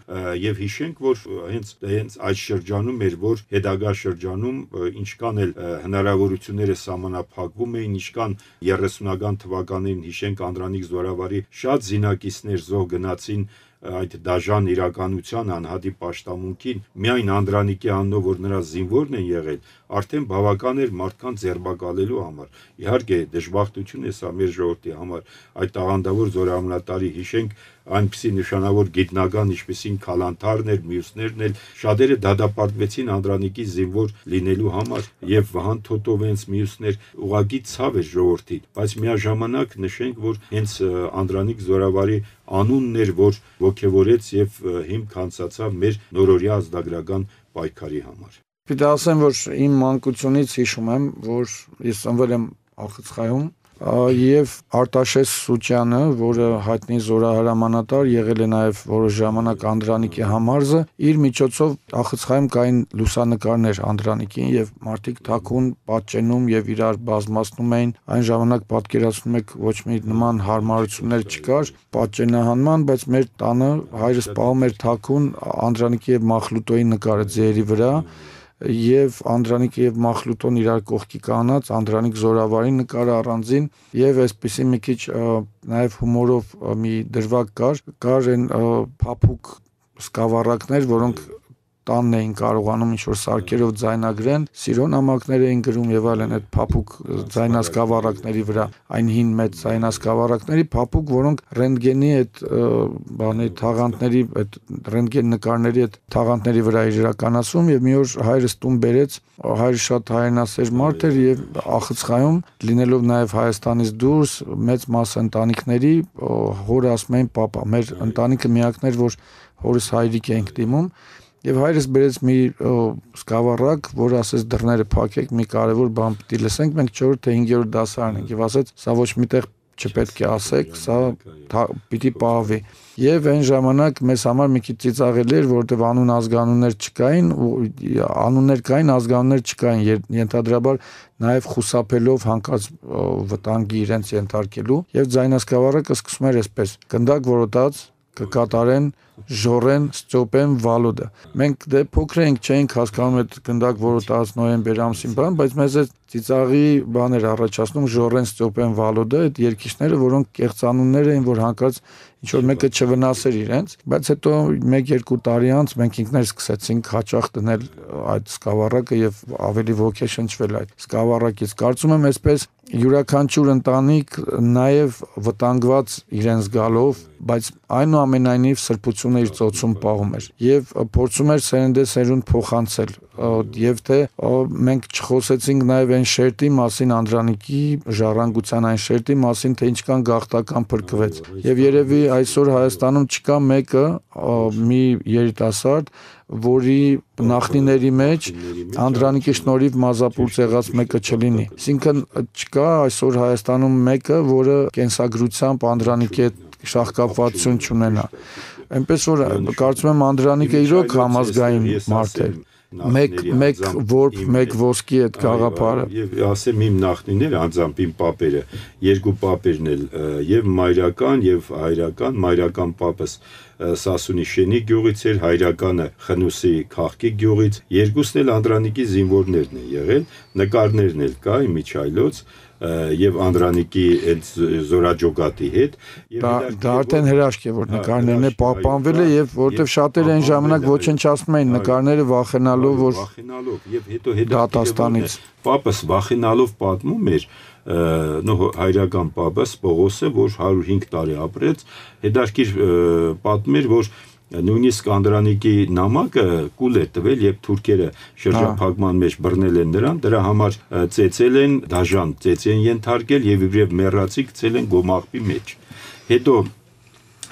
եւ հիշենք, որ հենց հենց այդ շրջանում էր, որ հետագա շրջանում ինչքան էլ հնարավորությունները սահմանափակվում էին, ինչքան երեսունական թվականներին հիշենք Անդրանիկ զորավարի շատ զինակիցներ զոհ գնացին այդ դաժան իրականության անհատի պաշտամունքին միայն Անդրանիկի անունով որ նրա զինվորն են եղել արդեն բավական էր մարդկանց ձերբակալելու համար իհարկե դժբախտություն է սա մեր ժողովրդի համար այդ տաղանդավոր զորահամնատարի հիշենք այնպիսի նշանավոր գիտնական ինչպեսին Քալանթարն էր մյուսներն էլ շատերը դատապարտվեցին Անդրանիկի զինվոր լինելու համար եւ Վահան Թոտովենց մյուսներ ուղագի ցավ էր ժողովրդի բայց միաժամանակ նշենք որ հենց Անդրանիկ զորավարի անունն էր որ ոգևորեց եւ հիմք հանցացավ մեր նորօրյա ազգագրական պայքարի համար։ Պիտի ասեմ, որ իմ մանկությունից հիշում եմ, որ ես ծնվել եմ Ախցխայում եւ Արտաշես Սուչյանը, որը հայտնի զորահրամանատար եղել է նաեւ որոշ ժամանակ Անդրանիկի համարզը, իր միջոցով Ախցխայում կային լուսանկարներ Անդրանիկին եւ մարդիկ թաքուն պատճենում եւ իրար բազմացնում էին։ Այն ժամանակ պատկերացնում եք ոչ մի նման հարմարություններ չկար պատճենահանման, բայց մեր տանը հայրս պահում էր թաքուն Անդրանիկի եւ Մախլուտոյի նկարը ձերի վրա եւ Անդրանիկը եւ Մախլուտոն իրար կողքի կանած Անդրանիկ զորավարի նկարը առանձին եւ այսպեսի մի քիչ նաեւ հումորով մի դրվագ կար կար այն փափուկ սկավառակներ, որոնք տանն էին կարողանում ինչ-որ սարքերով ձայնագրեն, սիրո նամակներ էին գրում եւ այլն այդ փափուկ ձայնասկավառակների վրա, այն հին մեծ ձայնասկավառակների փափուկ, որոնք ռենտգենի այդ բանի թաղանթների, այդ ռենտգեն նկարների այդ թաղանթների վրա էր իրականացում եւ մի օր հայրս տուն բերեց, հայրը շատ հայրենասեր մարդ էր եւ Ախցխայում լինելով նաեւ Հայաստանից դուրս մեծ մաս ընտանիքների հորը ասում էին պապա, մեր ընտանիքը միակն էր, որ հորս հայրիկ էինք դիմում Եվ հայրս բերեց մի սկավառակ, որ ասեց դռները փակեք, մի կարևոր բան պիտի լսենք, մենք չորրորդ թե հինգերորդ դասարան ենք եւ ասեց, սա ոչ միտեղ չպետք է ասեք, սա պիտի պահվի։ Եվ այն ժամանակ մեզ համար մի քիչ ծիծաղելի էր, որովհետեւ անուն ազգանուններ չկային, ու անուններ կային, ազգանուններ չկային, ենթադրաբար նաեւ խուսափելով հանկարծ վտանգի իրենց ենթարկելու, եւ ձայնասկավառակը սկսում էր այսպես. գնդակ որոտած կկատարեն Ժորեն, Ստյոպեն, Վալոդը։ Մենք դե փոքր ենք, չէինք հասկանում այդ գնդակ, որը տաս նոյեմբեր ամսին բան, բայց մեզ է ծիծաղի բաներ առաջացնում Ժորեն, Ստյոպեն, Վալոդը, այդ երկիչները, որոնք կեղծանուններ էին, որ հանկարծ ինչ որ մեկը չվնասեր իրենց, բայց հետո մեկ երկու տարի անց մենք ինքներս սկսեցինք հաճախ դնել այդ սկավառակը եւ ավելի ոգեշնչվել այդ սկավառակից։ Կարծում եմ այսպես յուրաքանչյուր ընտանիք նաև վտանգված իրեն զգալով, բայց այնուամենայնիվ սրբությունը իր ծոցում պահում էր եւ փորձում էր սերնդե սերունդ փոխանցել եւ թե մենք չխոսեցինք նաև այն շերտի մասին, Անդրանիկի ժառանգության այն շերտի մասին, թե ինչքան գաղթական փրկվեց եւ երևի այսօր Հայաստանում չկա մեկը մի երիտասարդ, որի նախնիների մեջ Անդրանիկի շնորհիվ մազապուրծ եղած մեկը չլինի։ Այսինքն չկա այսօր Հայաստանում մեկը, որը կենսագրությամբ Անդրանիկի հետ շահկապվածություն չունենա։ Այնպես որ կարծում եմ Անդրանիկը իրոք համազգային մարդ էր։ Մեկ մեկ որբ մեկ ոսկի այդ գաղափարը եւ ասեմ իմ նախնիները անձամբ իմ պապերը երկու պապերն էլ եւ մայրական եւ հայրական մայրական պապս Սասունի Շենի գյուղից էր, հայրականը Խնուսի Քաղքի գյուղից, երկուսն էլ Անդրանիկի զինվորներն են եղել, նկարներն էլ կա իմիջայլոց եւ Անդրանիկի այդ զորաջոգատի հետ դա արդեն հրաշք է որ նկարներն է պահպանվել է եւ որովհետեւ շատերը այն ժամանակ ոչնչացնում էին նկարները վախենալով որ վախենալով եւ հետո հետո դատաստանից պապս վախենալով պատմում էր նո հայրական պապս Պողոսը որ հարյուր հինգ տարի ապրեց հետարքիր պատմեր որ նույնիսկ Անդրանիկի նամակը կուլ է տվել եւ թուրքերը շրջափակման մեջ բռնել են նրան դրա համար ծեծել են դաժան ծեծի են ենթարկել եւ իբրև մեռածի գցել են գոմաղբի մեջ հետո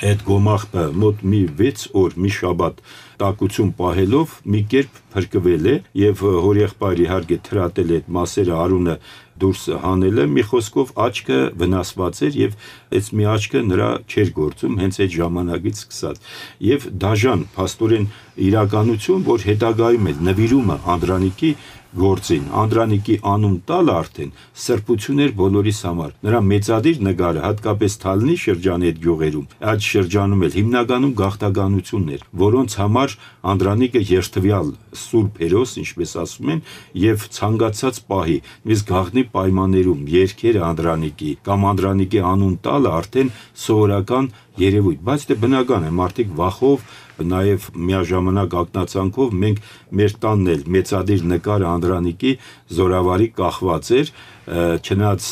այդ գոմաղբը մոտ մի վեց օր մի շաբաթ տակություն պահելով մի կերպ փրկվել է եւ հորեղբայրի իհարկե թրատել այդ մասերը արունը դուրս հանելը մի խոսքով աչքը վնասված էր եւ այս մի աչքը նրա չէր գործում հենց այդ ժամանակից սկսած եւ դաժան փաստորեն իրականություն որ հետագայում էլ նվիրումը Անդրանիկի գործին Անդրանիկի անուն տալը արդեն սրբություն էր բոլորիս համար նրա մեծադիր նկարը հատկապես Թալնի շրջանի այդ գյուղերում այդ շրջանում էլ հիմնականում գաղթականությունն էր որոնց համար Անդրանիկը երթվյալ սուրբ հերոս ինչպես ասում են եւ ցանկացած պահի իսկ գաղտնի պայմաններում երկերը Անդրանիկի կամ Անդրանիկի անուն տալը արդեն սովորական երևույթ բայց դե բնական է մարդիկ վախով նաև միաժամանակ ակնածանքով մենք մեր տանն էլ մեծադիր նկարը Անդրանիկի զորավարի կախված էր չնայած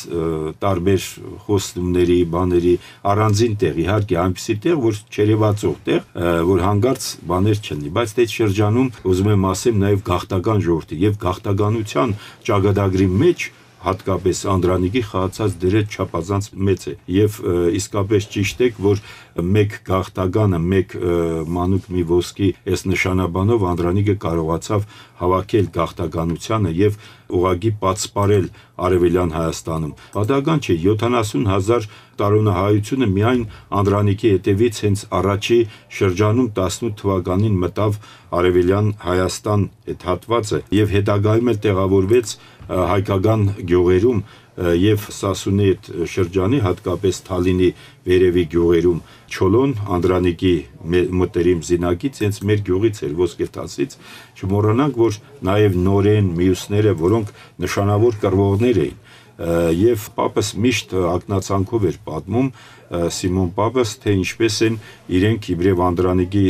տարբեր խոստումների բաների առանձին տեղ իհարկե այնպիսի տեղ որ չերևացող տեղ որ հանգարց բաներ չլինի բայց այդ շրջանում ուզում եմ ասեմ նաև գաղթական ժողովրդի եւ գաղթականության ճակատագրի մեջ հատկապես Անդրանիկի խաղացած դերը չափազանց մեծ է եւ իսկապես ճիշտ է որ մեկ գաղթականը մեկ մանուկ մի ոսկի այս նշանաբանով Անդրանիկը կարողացավ հավաքել գաղթականությանը եւ ուղագի պատսպարել Արևելյան Հայաստանում պատահական չէ յոթանասուն հազար տարոնահայությունը միայն Անդրանիկի հետևից հենց առաջի շրջանում տասնութ թվականին մտավ Արևելյան Հայաստան այդ հատվածը եւ հետագայում էլ տեղավորվեց հայկական գյուղերում եւ Սասունի այդ շրջանի հատկապես Թալինի վերևի գյուղերում Չոլոն Անդրանիկի մտերիմ զինակից հենց մեր գյուղից էր ոսկեթասից չմոռանանք որ նաեւ նորեն մյուսները որոնք նշանավոր կռվողներ էին եւ պապս միշտ ակնածանքով էր պատմում Սիմոն պապս թե ինչպես են իրենք իբրև Անդրանիկի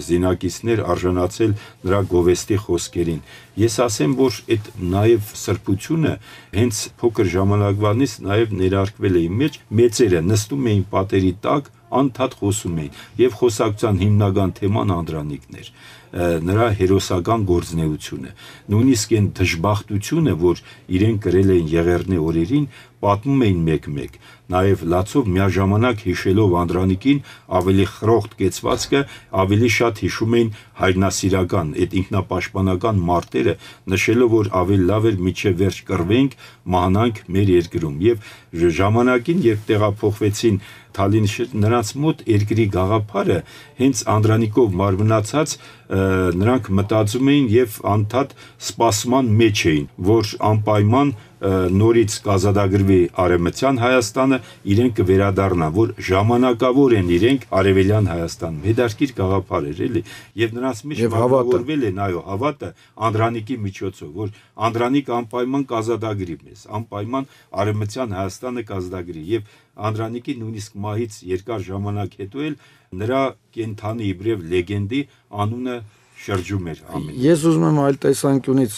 զինակիցներ արժանացել նրա գովեստի խոսքերին ես ասեմ որ այդ նաեւ սրբությունը հենց փոքր ժամանակվանից նաեւ ներարկվել է իմ մեջ մեծերը նստում էին պատերի տակ անդադ խոսում էին եւ խոսակցության հիմնական թեման Անդրանիկն էր նրա հերոսական գործնեությունը նույնիսկ այն դժբախտությունը որ իրեն կրել էին Եղեռնե օրերին պատմում էին մեկ-մեկ նաև լացով միաժամանակ հիշելով Անդրանիկին ավելի խրոխտ կեցվածքը ավելի շատ հիշում էին հայրենասիրական այդ ինքնապաշտպանական մարտերը նշելով որ ավելի լավ էր միջև վերջ կռվենք մահանանք մեր երկրում եւ ժամանակին երբ տեղափոխվեցին Թալին նրանց մոտ երկրի գաղափարը հենց Անդրանիկով մարմնացած նրանք մտածում էին եւ անդադ սպասման մեջ էին որ անպայման նորից կազատագրվի Արևմտյան Հայաստանը, իրենք կվերադառնան, որ ժամանակավոր են իրենք Արևելյան Հայաստանում։ Հետաքրքիր գաղափար էր, էլի, եւ նրանց մեջ հավատորվել են, այո, հավատը Անդրանիկի միջոցով, որ Անդրանիկ անպայման կազատագրի մեզ, անպայման Արևմտյան Հայաստանը կազատագրի եւ Անդրանիկի նույնիսկ մահից երկար ժամանակ հետո էլ նրա կենթանի իբրև լեգենդի անունը շրջում էր ամեն։ Ես ուզում եմ այլ տեսանկյունից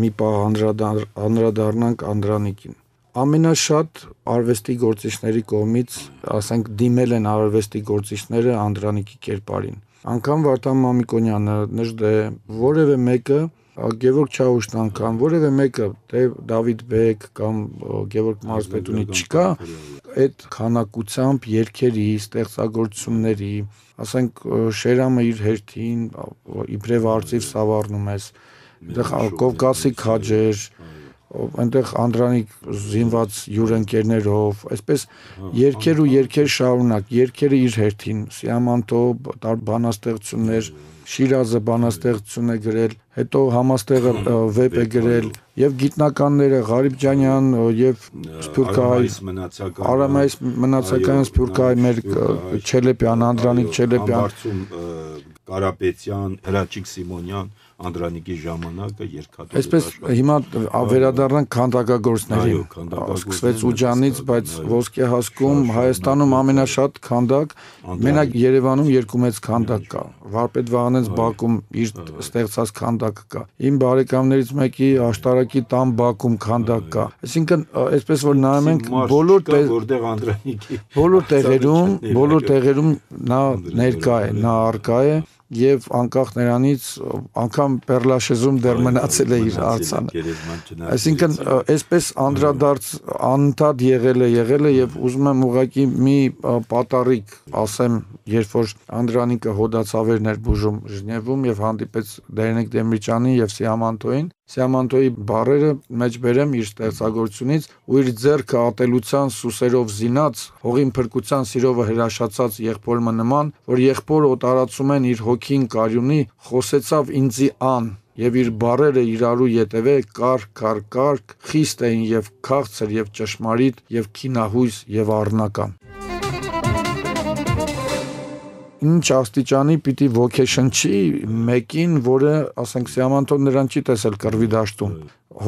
մի պահ անդրադառնանք Անդրանիկին։ Ամենաշատ արվեստի գործիչների կողմից, ասենք, դիմել են արվեստի գործիչները Անդրանիկի կերպարին։ Անկամ Վարդան Մամիկոնյանը, Նժդե, որևէ մեկը, Գևորգ Չաուշտան կամ որևէ մեկը, թե Դավիթ Բեկ կամ Գևորգ Մարզպետունի չկա, այդ քանակությամբ երգերի, ստեղծագործությունների, ասենք Շերամը իր հերթին իբրև արծիվ սավառնում ես, այնտեղ Կովկասի քաջեր, այնտեղ Անդրանիկ զինված յուրընկերներով, այսպես երգեր ու երգեր շարունակ, երգերը իր հերթին, Սիամանտո բանաստեղծություններ, Շիրազը բանաստեղծություն է գրել, հետո Համաստեղը վեպ է գրել, եւ գիտնականները Ղարիբջանյան եւ Սփյուռքահայ Արամայիս մնացական Սփյուռքահայ մեր Չելեպյան, Անդրանիկ Չելեպյան, Կարապետյան, Հրաչիկ Սիմոնյան, Անդրանիկի ժամանակը երկաթուղի։ Այսպես հիմա վերադառնանք քանդակագործներին։ Սկսվեց Ուջանից, բայց ոսկե հասկում Հայաստանում ամենաշատ քանդակ մենակ Երևանում երկու մեծ քանդակ կա։ Վարպետ Վահանենց Բաքում իր ստեղծած քանդակը կա։ Իմ բարեկամներից մեկի Աշտարակի տան Բաքում քանդակ կա։ Այսինքն, այսպես որ նայում ենք բոլոր որտեղ Անդրանիկի բոլոր տեղերում, բոլոր տեղերում նա ներկա է, նա առկա է եւ անկախ նրանից անգամ Պերլաշեզում դեռ մնացել է իր արձանը։ Այսինքն այսպես անդրադարձ անընդհատ եղել է, եղել է եւ ուզում եմ ուղղակի մի պատառիկ ասեմ, երբ որ Անդրանիկը հոդացավերն էր բուժում Ժնևում եւ հանդիպեց Դերենիկ Դեմիրճյանին եւ Սիամանտոին, Սիամանտոյի բառերը մեջ բերեմ իր ստեղծագործությունից ու իր ձեռքը ատելության սուսերով զինած, հողին փրկության սիրովը հրաշացած եղբորը նման, որ եղբորը օտարացում են իր հոգին կարյունի, խոսեցավ ինձի ան, եւ իր բառերը իրարու ետևե կար, կար, կարգ, խիստ էին եւ քաղցր եւ ճշմարիտ եւ քինահույս եւ առնական։ Ինչ աստիճանի պիտի ոգեշնչի մեկին, որը, ասենք, Սիամանտոն նրան չի տեսել կռվի դաշտում,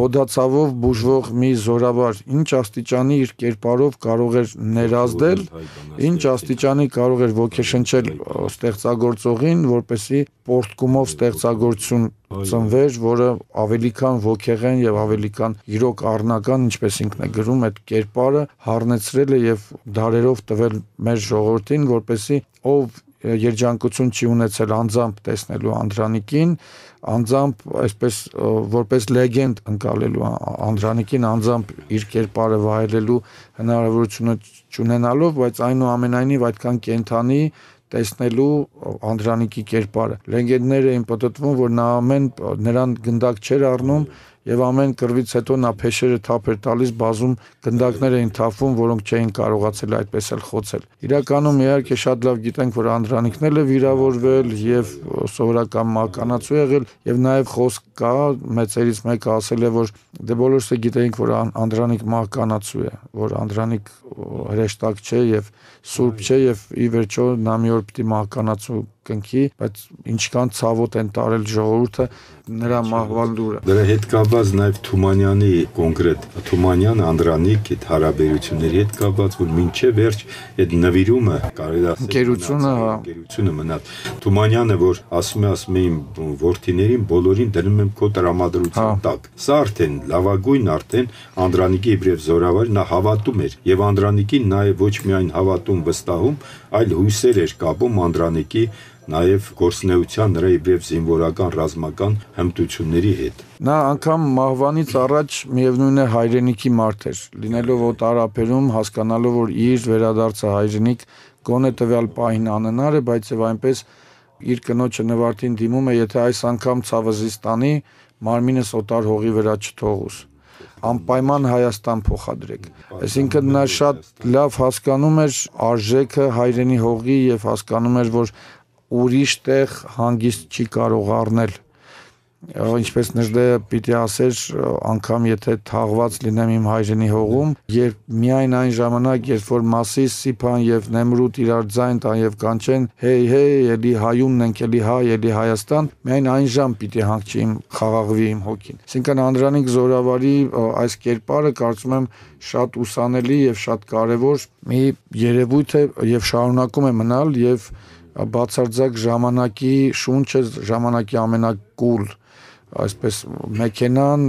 հոդացավով բուժվող մի զորավար, ինչ աստիճանի իր կերպարով կարող էր ներազդել, ինչ աստիճանի կարող էր ոգեշնչել ստեղծագործողին, որպեսզի պորտկումով ստեղծագործություն ծնվեր, որը ավելի քան ոգեղեն եւ ավելի քան իրոք առնական, ինչպես ինքն է գրում, այդ կերպարը հառնեցրել է եւ դարերով տվել մեր ժողովրդին, որպեսզի ով երջանկություն չի ունեցել անձամբ տեսնելու Անդրանիկին, անձամբ այսպես որպես լեգենդ ընկալելու Անդրանիկին, անձամբ իր կերպարը վայելելու հնարավորությունը չունենալով, բայց այնուամենայնիվ այդքան կենթանի տեսնելու Անդրանիկի կերպարը։ Լեգենդները էին պատտվում, որ նա ամեն նրան գնդակ չէր առնում եւ ամեն կռվից հետո նա փեշերը թափ էր տալիս, բազում գնդակներ էին թափվում, որոնք չէին կարողացել այդպես էլ խոցել։ Իրականում իհարկե շատ լավ գիտենք, որ Անդրանիկն էլ է վիրավորվել եւ սովորական մականացու եղել եւ նաեւ խոսք կա, մեծերից մեկը ասել է, որ դե բոլորս է գիտենք, որ Անդրանիկ մականացու է, որ Անդրանիկ հրեշտակ չէ եւ սուրբ չէ եւ ի վերջո նա մի օր պիտի մականացու կնքի, բայց ինչքան ցավոտ են տարել ժողովուրդը նրա մահվան լուրը։ Դրա հետ կապված նաև Թումանյանի կոնկրետ Թումանյան Անդրանիկ այդ հարաբերությունների հետ կապված, որ մինչև վերջ այդ նվիրումը կարելի է ասել գերությունը, հա, գերությունը մնաց։ Թումանյանը, որ ասում է, ասում է իմ որդիներին բոլորին դնում եմ քո տրամադրության տակ։ Սա արդեն լավագույն արդեն Անդրանիկի իբրև զորավար նա հավատում էր եւ Անդրանիկին նաև ոչ միայն հավատում վստահում, այլ հույսեր էր կապում Անդրանիկի նաև գործնեության նրա իբրև զինվորական ռազմական հմտությունների հետ։ Նա անգամ մահվանից առաջ միևնույն է հայրենիքի մարդ էր, լինելով օտարապերում, հասկանալով, որ իր վերադարձը հայրենիք գոնե տվյալ պահին անհնար է, բայց եւ այնպես իր կնոջը Նվարդին դիմում է, եթե այս անգամ ցավզիստանի մարմինս օտար հողի վրա չթողուս, անպայման Հայաստան փոխադրեք։ Այսինքն նա շատ լավ հասկանում էր արժեքը հայրենի հողի եւ հասկանում էր, որ ուրիշ տեղ հանգիստ չի կարող առնել ինչպես Նժդեը պիտի ասեր, անգամ եթե թաղված լինեմ իմ հայրենի հողում, երբ միայն այն ժամանակ, երբ որ Մասիս, Սիփան եւ Նեմրութ իրար ձայն տան եւ կանչեն, հեյ հեյ, էլի հայունն ենք, էլի հայ, էլի Հայաստան, միայն այն ժամ պիտի հանգչի իմ խաղաղվի իմ հոգին։ Այսինքն Անդրանիկ Զորավարի այս կերպարը կարծում եմ շատ ուսանելի եւ շատ կարեւոր մի երևույթ է եւ շարունակում է մնալ եւ բացարձակ ժամանակի շունչը, ժամանակի ամենակուլ այսպես մեքենան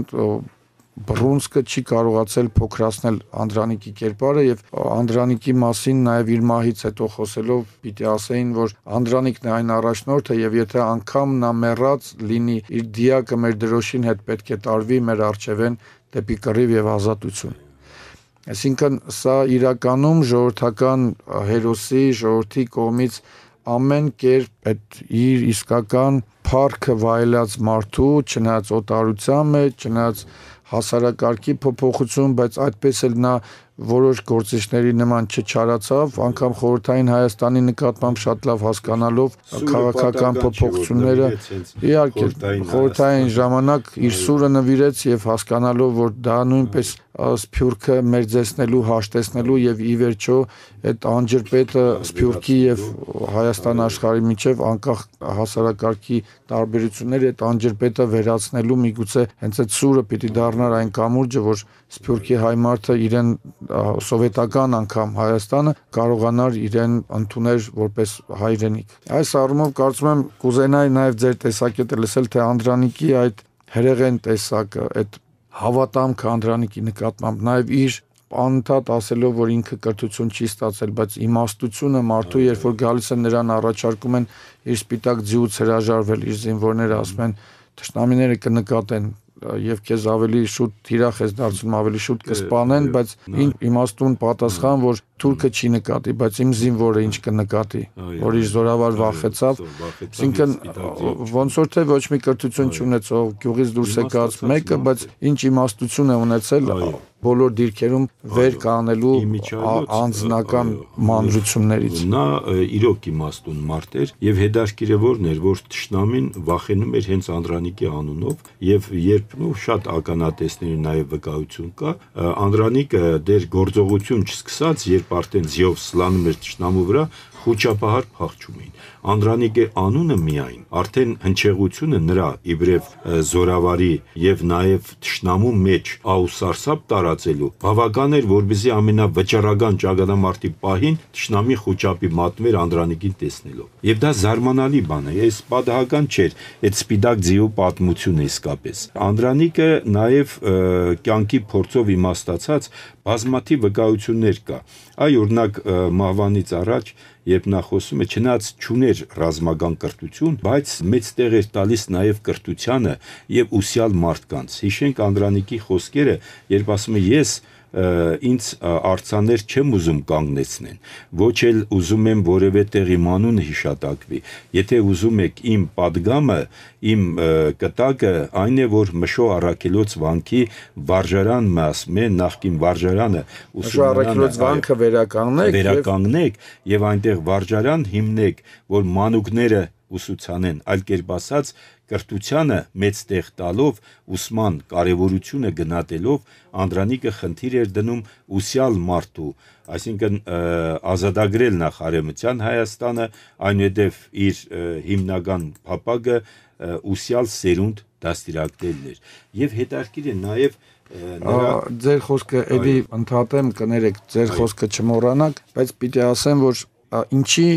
բռունցքը չի կարողացել փոքրացնել Անդրանիկի կերպարը եւ Անդրանիկի մասին նաեւ իր մահից հետո խոսելով պիտի ասեին, որ Անդրանիկն է այն առաջնորդը եւ եթե անգամ նա մեռած լինի, իր դիակը մեր դրոշին հետ պետք է տարվի մեր արժևեն դեպի կռիվ եւ ազատություն։ Այսինքն սա իրականում ժողովրդական հերոսի, ժողովրդի կողմից ամեն կերպ այդ իր իսկական փառքը վայելած մարդու, չնայած օտարության մեջ, չնայած հասարակարգի փոփոխություն, բայց այդպես էլ նա որոշ գործիչների նման չչարացավ, անգամ խորհրդային Հայաստանի նկատմամբ շատ լավ հասկանալով քաղաքական փոփոխությունները, իհարկե խորհրդային ժամանակ իր սուրը նվիրեց եւ հասկանալով, որ դա նույնպես Սփյուռքը մերձեցնելու, հաշտեցնելու եւ ի վերջո այդ անջրպետը Սփյուռքի եւ Հայաստան աշխարհի միջև անկախ հասարակարգի տարբերությունները այդ անջրպետը վերացնելու միգուցե հենց այդ սուրը պիտի դառնար այն կամուրջը, որ Սփյուռքի հայ մարդը իրեն սովետական անգամ Հայաստանը կարողանար իրեն ընդունել որպես հայրենիք։ Այս առումով կարծում եմ կուզենայի նաև ձեր տեսակետը լսել, թե Անդրանիկի այդ հրեղեն տեսակը, այդ հավատամքը Անդրանիկի նկատմամբ, նաև իր անընդհատ ասելով, որ ինքը կրթություն չի ստացել, բայց իմաստությունը մարդու, երբ որ գալիս են նրան առաջարկում են իր սպիտակ ձիուց հրաժարվել, իր զինվորները ասում են, թշնամիները կնկատեն եւ քեզ ավելի շուտ թիրախ ես դարձնում, ավելի շուտ կսպանեն, բայց ինչ իմաստուն պատասխան, որ թուրքը չի նկատի, բայց իմ զինվորը ինչ կնկատի, որ իր զորավար վախեցավ, այսինքն ոնց որ թե ոչ մի կրթություն չունեցող գյուղից դուրս եկած մեկը, բայց ինչ իմաստություն է ունեցել բոլոր դիրքերում վեր կանելու անձնական մանրություններից։ Նա իրոք իմաստուն մարդ էր եւ հետաքրքիրը որն էր, որ թշնամին վախենում էր հենց Անդրանիկի անունով եւ երբ նո շատ ականատեսների նաեւ վկայություն կա, Անդրանիկը դեր գործողություն չսկսած, երբ արդեն զիով սլանում էր թշնամու վրա, խոչապահար փախչում էին։ Անդրանիկի անունը միայն արդեն հնչեղությունը նրա իբրև զորավարի եւ նաեւ թշնամու մեջ աուսարսափ տարածելու բավական էր, որբիզի ամենավճռական ճակատամարտի պահին թշնամի խոչապի մատներ Անդրանիկին տեսնելով։ Եվ դա զարմանալի բան է, այս պատահական չէր, այդ սպիտակ ձիու պատմությունը իսկապես։ Անդրանիկը նաեւ կյանքի փորձով իմաստացած բազմաթիվ վկայություններ կա։ Այ օրինակ մահվանից առաջ երբ նա խոսում է, չնայած չուներ ռազմական կրթություն, բայց մեծ տեղ էր տալիս նաև կրթությանը եւ ուսյալ մարդկանց։ Հիշենք Անդրանիկի խոսքերը, երբ ասում է ես ինձ արձաներ չեմ ուզում կանգնեցնեն, ոչ էլ ուզում եմ որևէ տեղ իմ անունը հիշատակվի։ Եթե ուզում եք իմ падգամը, իմ կտակը այն է, որ Մշո Առաքելոց վանքի վարժարանն ասում է, նախկին վարժարանը Մշո Առաքելոց վանքը վերականգնեք, վերականգնեք եւ այնտեղ վարժարան հիմնեք, որ մանուկները ուսուցանեն, այլ կերպ ասած կրթությանը մեծ տեղ տալով ուսման կարևորությունը գնահատելով Անդրանիկը խնդիր էր դնում ուսյալ մարդու, այսինքն ազատագրել նախ Արևմտյան Հայաստանը, այնուհետև իր հիմնական փապագը ուսյալ սերունդ դաստիարակելն էր։ Եվ հետաքրքիր է նաև նրա ձեր խոսքը էլի ընդհատեմ, կներեք, ձեր խոսքը չմոռանաք, բայց պիտի ասեմ, որ ինչի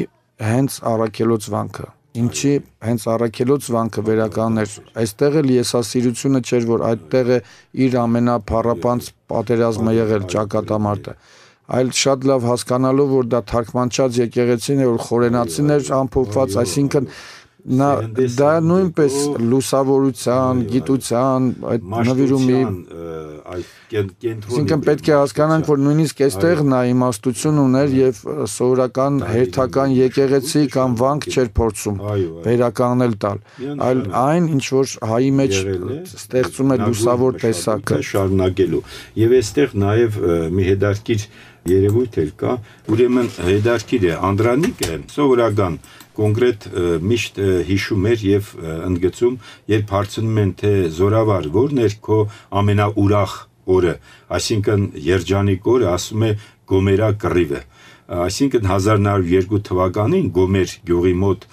հենց Առաքելոց վանքը Ինչի հենց Առաքելոց վանքը վերականգներ, այստեղ էլ եսասիրությունը չէր, որ այդտեղ է իր ամենափառապանց պատերազմը եղել ճակատամարտը, այլ շատ լավ հասկանալով, որ դա թարգմանչած եկեղեցին է, որ խորենացին էր ամփոփված, այսինքն նա դա նույնպես լուսավորության, գիտության, այդ նվիրումի Այսինքն պետք է հասկանանք, որ նույնիսկ այստեղ նա իմաստություն ուներ եւ սովորական հերթական եկեղեցի կամ վանք չէր փորձում վերականգնել տալ, այլ այն, ինչ որ հայի մեջ ստեղծում է լուսավոր տեսակը շարունակելու։ Եվ այստեղ նաեւ մի հետաքրքիր երևույթ էլ կա, ուրեմն հետաքրքիր է, Անդրանիկը սովորական կոնկրետ միշտ հիշում էր եւ ընդգծում, երբ հարցնում են թե զորավար ո՞րն էր քո ամենաուրախ օրը, այսինքն երջանիկ օրը, ասում է Գոմերա կռիվը, այսինքն հազար նոր երկու թվականին Գոմեր գյուղի մոտ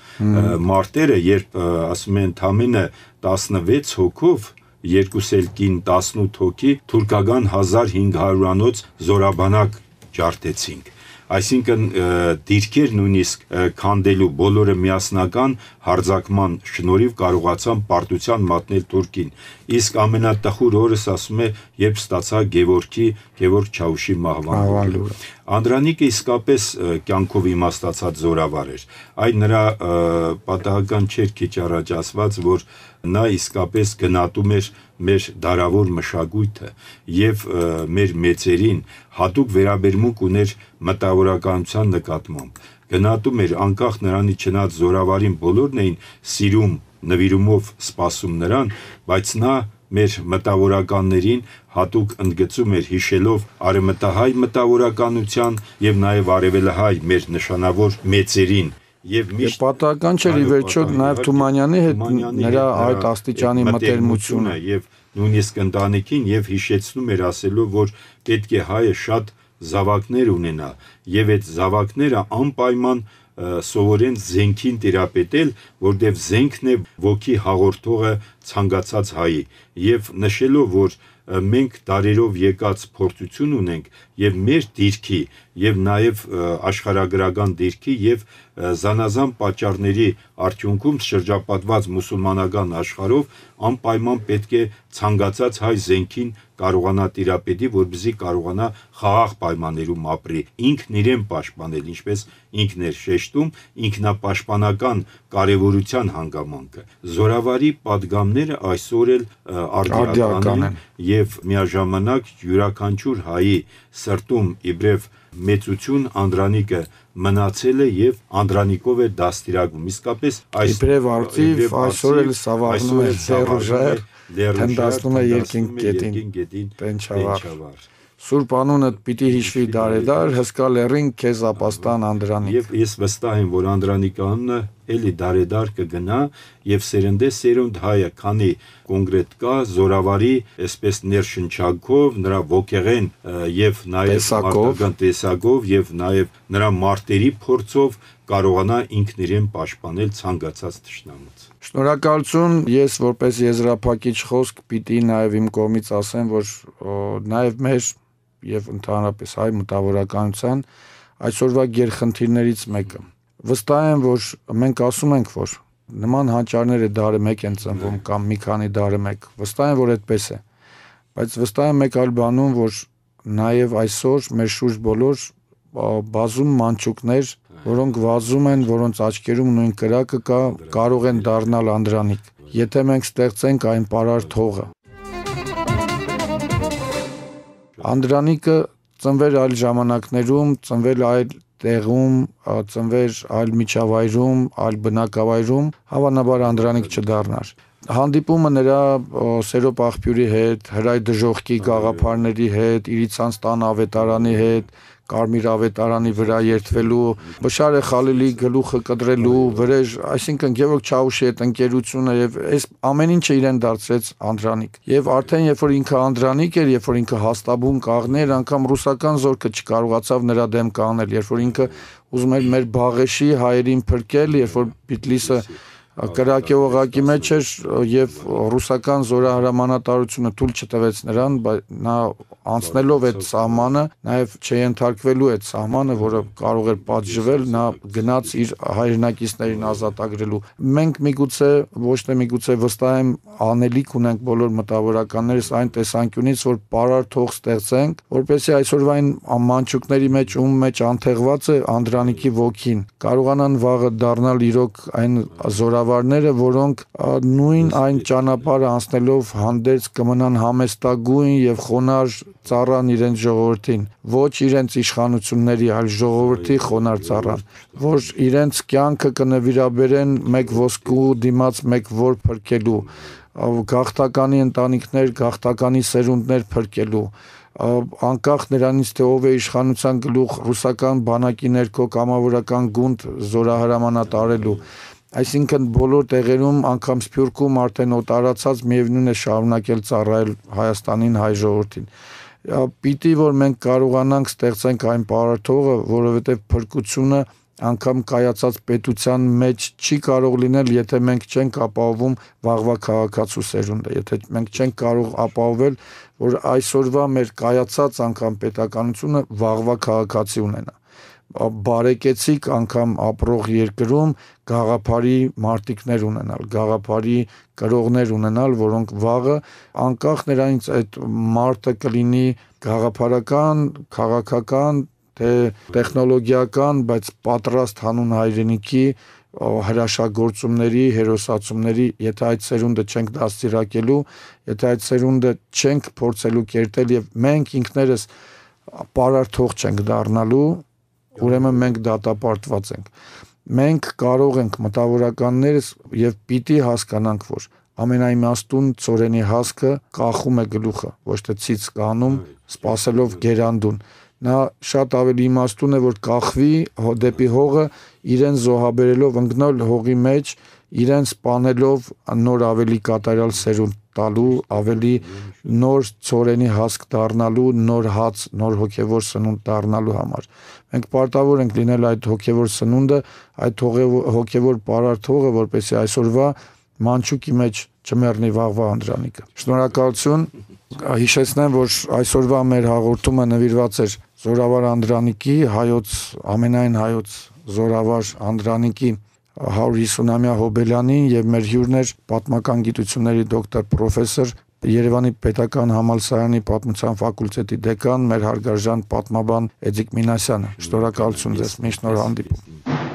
մարտերը, երբ ասում են ընդամենը տասնվեց հոգով երկուս էլ կին տասնութ հոգի թուրքական հազար հինգ հարյուրանոց զորաբանակ ջարդեցինք, այսինքն դիրքեր նույնիսկ քանդելու բոլորը միասնական հարձակման շնորհիվ կարողացան պարտության մատնել Թուրքին, իսկ ամենատխուր օրս ասում է, երբ ստացա Գևորգի Գևորգ Չաուշի մահվան լուրը։ Անդրանիկը իսկապես կյանքով իմաստացած զորավար էր, այն նրա պատահական չէր քիչ առաջ ասված, որ նա իսկապես գնահատում էր մեր դարավոր մշակույթը եւ մեր մեծերին հատուկ վերաբերմունք ուներ մտավորականության նկատմամբ, գնահատում էր անկախ նրանից չնայած զորավարին բոլորն էին սիրում, նվիրումով սպասում նրան, բայց նա մեր մտավորականներին հատուկ ընդգծում էր հիշելով արևմտահայ մտավորականության եւ նաեւ արևելահայ մեր նշանավոր մեծերին եւ միշտ պատահական չէր ի վերջո նաեւ Թումանյանի հետ նրա այդ աստիճանի մտերմությունը եւ նույնիսկ ընտանիքին եւ հիշեցնում էր ասելով, որ պետք է հայը շատ զավակներ ունենա եւ այդ զավակները անպայման սովորեն զենքին տիրապետել, որտեղ զենքն է ոգի հաղորդողը ցանկացած հայի եւ նշելով, որ մենք դարերով եկած փորձություն ունենք եւ մեր դիրքի եւ նաեւ աշխարհագրական դիրքի եւ զանազան պատճառների արդյունքում շրջապատված մուսուլմանական աշխարհով անպայման պետք է ցանկացած հայ զենքին կարողանա տիրապետի, որպեսզի կարողանա խաղաղ պայմաններում ապրի, ինքն իրեն պաշտպանել, ինչպես ինքն էր շեշտում, ինքնապաշտպանական կարևորության հանգամանքը։ Զորավարի պատգամները այսօր էլ արդիական են եւ միաժամանակ յուրաքանչյուր հայի սրտում իբրև մեծություն Անդրանիկը մնացել է եւ Անդրանիկով է դաստիարակվում, իսկապես այս իբրև արծիվ այսօր էլ սավառնում է ձեռուժեր, թնդացնում է երկինք գետին, տենչավար։ Սուրբ անունդ պիտի հիշվի դարեդար, հսկա լեռին քեզ ապաստան Անդրանիկ։ Եվ ես վստահ եմ, որ Անդրանիկի անունը էլի դարեդար կգնա եւ սերնդե սերունդ հայը, քանի կոնկրետ կա զորավարի, այսպես ներշնչանքով, նրա ոգեղեն եւ նաեւ մարդկան տեսակով եւ նաեւ նրա մարտերի փորձով կարողանա ինքն իրեն պաշտպանել ցանկացած թշնամուց։ Շնորհակալություն, ես որպես եզրափակիչ խոսք պիտի նաեւ իմ կողմից ասեմ, որ նաեւ մեր եւ ընդհանրապես հայ մտավորականության այսօրվա գերխնդիրներից մեկը։ Վստահ եմ, որ մենք ասում ենք, որ նման հանճարները դարը մեկ են ծնվում կամ մի քանի դարը մեկ։ Վստահ եմ, որ այդպես է։ Բայց վստահ եմ մեկ այլ բանում, որ նաեւ այսօր մեր շուրջ բոլոր բազում մանչուկներ, որոնք վազում են, որոնց աչքերում նույն կրակը կա, կարող են դառնալ Անդրանիկ, եթե մենք ստեղծենք այն պարար թողը։ Անդրանիկը ծնվել այլ ժամանակներում, ծնվել այլ տեղում, ծնվել այլ միջավայրում, այլ բնակավայրում, հավանաբար Անդրանիկ չդառնար։ Հանդիպումը նրա Սերոպ աղբյուրի հետ, հրայ դժոխքի գաղափարների հետ, իրիցանց տան ավետարանի հետ, Կարմիր ավետարանի վրա երթվելու, Բշարե Խալիլի գլուխը կտրելու, վրեժ, այսինքն Գևորգ Չաուշի հետ ընկերությունը եւ այս ամեն ինչը իրեն դարձրեց Անդրանիկ։ Եվ արդեն երբ որ ինքը Անդրանիկ էր, երբ որ ինքը հաստաբում կաղներ, անգամ ռուսական զորքը չկարողացավ նրա դեմ կանգնել, երբ որ ինքը ուզում էր մեր Բաղեշի հայերին փրկել, երբ որ Բիտլիսը կրակե օղակի մեջ էր եւ ռուսական զորահրամանատարությունը թույլ չտվեց նրան, նա անցնելով այդ սահմանը, նաեւ չենթարկվելու այդ սահմանը, որը կարող էր պատժվել, նա գնաց իր հայրենակիցներին ազատագրելու։ Մենք միգուցե ոչ թե միգուցե վստահ եմ անելիք ունենք բոլոր մտավորականներս այն տեսանկյունից, որ պարար թող ստեղծենք, որպեսզի այսօրվային մանչուկների մեջ ում մեջ անթեղված է Անդրանիկի ոգին, կարողանան վաղը դառնալ իրոք այն զորավարները, որոնք նույն այն ճանապարհը անցնելով հանդերձ կմնան համեստագույն եւ խոնար ծառան իրենց ժողովրդին, ոչ իրենց իշխանությունների, այլ ժողովրդի խոնար ծառան, որ իրենց կյանքը կնվիրաբերեն մեկ ոսկու դիմաց մեկ որ փրկելու, գաղթականի ընտանիքներ, գաղթականի սերունդներ փրկելու, անկախ նրանից թե ով է իշխանության գլուխ ռուսական բանակի ներքո կամավորական գունդ զորահրամանատարելու, այսինքն բոլոր տեղերում անգամ Սփյուռքում արդեն օտարացած միևնույն է շարունակել ծառայել Հայաստանին, հայ ժողովրդին։ Պիտի որ մենք կարողանանք ստեղծենք այն պարարթողը, որովհետև փրկությունը անգամ կայացած պետության մեջ չի կարող լինել, եթե մենք չենք ապահովում վաղվա քաղաքացու սերունդը, եթե մենք չենք կարող ապահովել, որ այսօրվա մեր կայացած անգամ պետականությունը վաղվա քաղաքացի ունենա, բարեկեցիկ անգամ ապրող երկրում գաղափարի մարտիկներ ունենալ, գաղափարի կրողներ ունենալ, որոնք վաղը անկախ նրանից այդ մարտը կլինի գաղափարական, քաղաքական, թե տեխնոլոգիական, բայց պատրաստ հանուն հայրենիքի հրաշագործումների, հերոսացումների, եթե այդ սերունդը չենք դաստիարակելու, եթե այդ սերունդը չենք փորձելու կերտել եւ մենք ինքներս պարարթող չենք դառնալու, ուրեմն մենք դատապարտված ենք։ Մենք կարող ենք մտավորականներս եւ պիտի հասկանանք, որ ամենաիմաստուն ծորենի հասկը կախում է գլուխը, ոչ թե ցից կանում, սпасելով գերանդուն։ Նա շատ ավելի իմաստուն է, որ կախվի դեպի հողը, իրեն զոհաբերելով ընկնալ հողի մեջ, իրեն սպանելով նոր ավելի կատարյալ սերունդ տալու, ավելի նոր ծորենի հասկ դառնալու, նոր հաց, նոր հոգևոր սնունդ դառնալու համար։ Մենք պարտավոր ենք լինել այդ հոգևոր սնունդը, այդ հոգևոր պարարթողը, որպեսզի այսօրվա մանչուկի մեջ չմեռնի վաղվա Անդրանիկը։ Շնորհակալություն, հիշեցնեմ, որ այսօրվա մեր հաղորդումը նվիրված էր Զորավար Անդրանիկի, հայոց ամենայն հայոց Զորավար Անդրանիկի հարյուր հիսունամյա հոբելյանին եւ մեր հյուրն էր պատմական գիտությունների դոկտոր պրոֆեսոր Երևանի Պետական Համալսարանի Պատմության ֆակուլտետի դեկան, մեր հարգարժան պատմաբան Էդիկ Մինասյանը։ Շնորհակալություն ձեզ, միշտ նոր հանդիպում։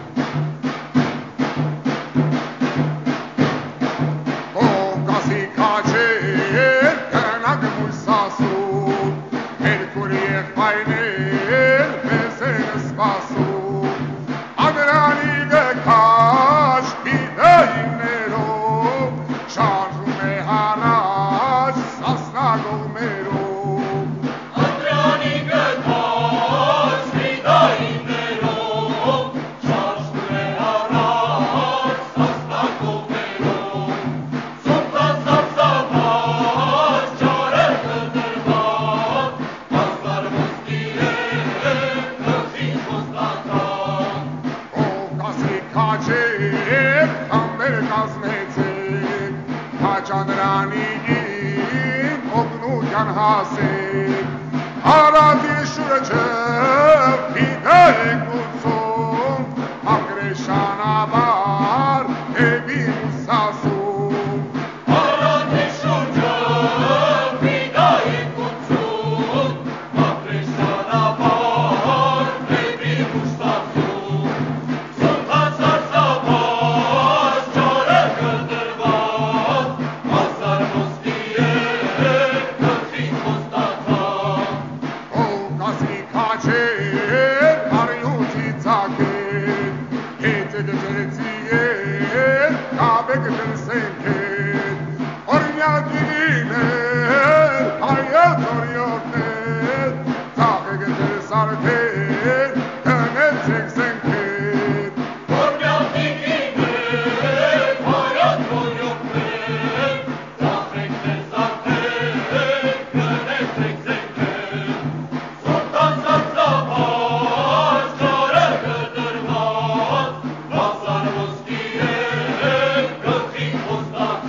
Stop.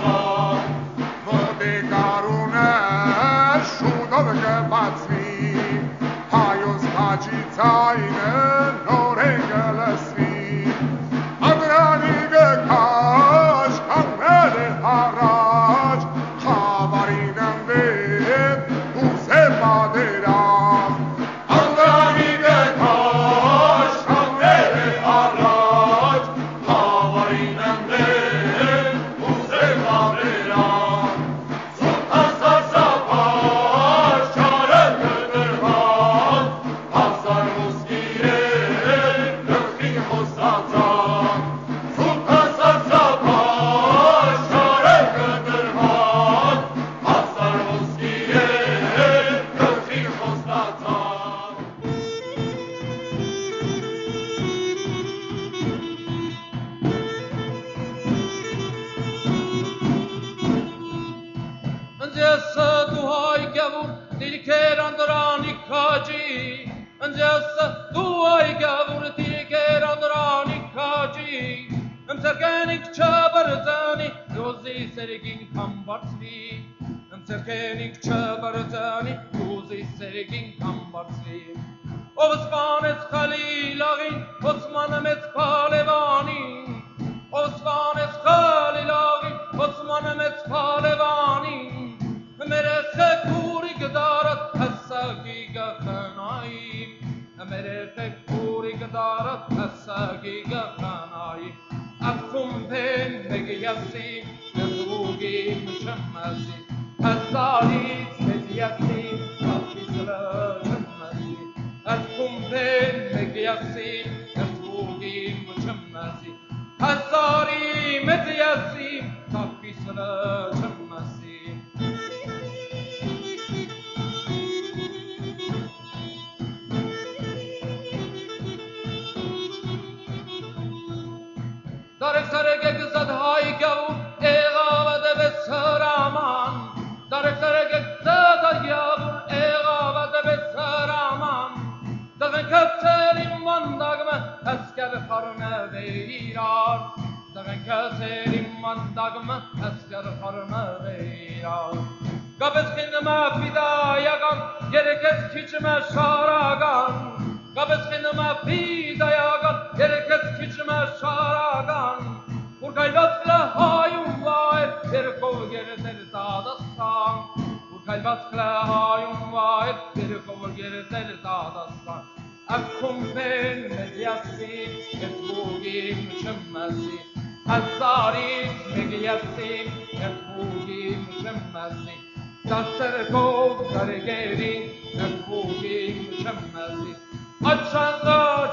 Înțeasă duhai gavur dilker andrani kaji Înțeasă duhai gavur dilker andrani kaji Înțerkenik çabarzani Yozi sergin kambarsli Înțerkenik çabarzani Yozi sergin kambarsli Osmanes Khalilagin Osman Mets Palevani Osmanes Khalilagin Osman Mets Palevani Mere khekuri gdarat hasagi gakhanai Mere khekuri gdarat hasagi gakhanai Akum ben megiyasi Nezugi mshamasi Hazaris megiyasi Afisla shamasi Akum ben megiyasi Nezugi mshamasi Hazari megiyasi Afisla shamasi Darek sarege gzad hay gavur eğavade ve saraman Darek sarege gzad hay gavur eğavade ve saraman Dağın köselim mandagme esker karne veyran Dağın köselim mandagme esker karne veyran Gabez kinime fidayagan gerekez kiçime şaragan Gabez kinime fidayagan gerekez kiçime şaragan Urkaybatkla hayun vayr Terkov gerder dadastan Urkaybatkla hayun vayr Terkov gerder dadastan Akkum ben medyasi Etbugim şemmesi Hazzaris medyasi Etbugim şemmesi Dasserkov dargerin Etbugim şemmesi Açanda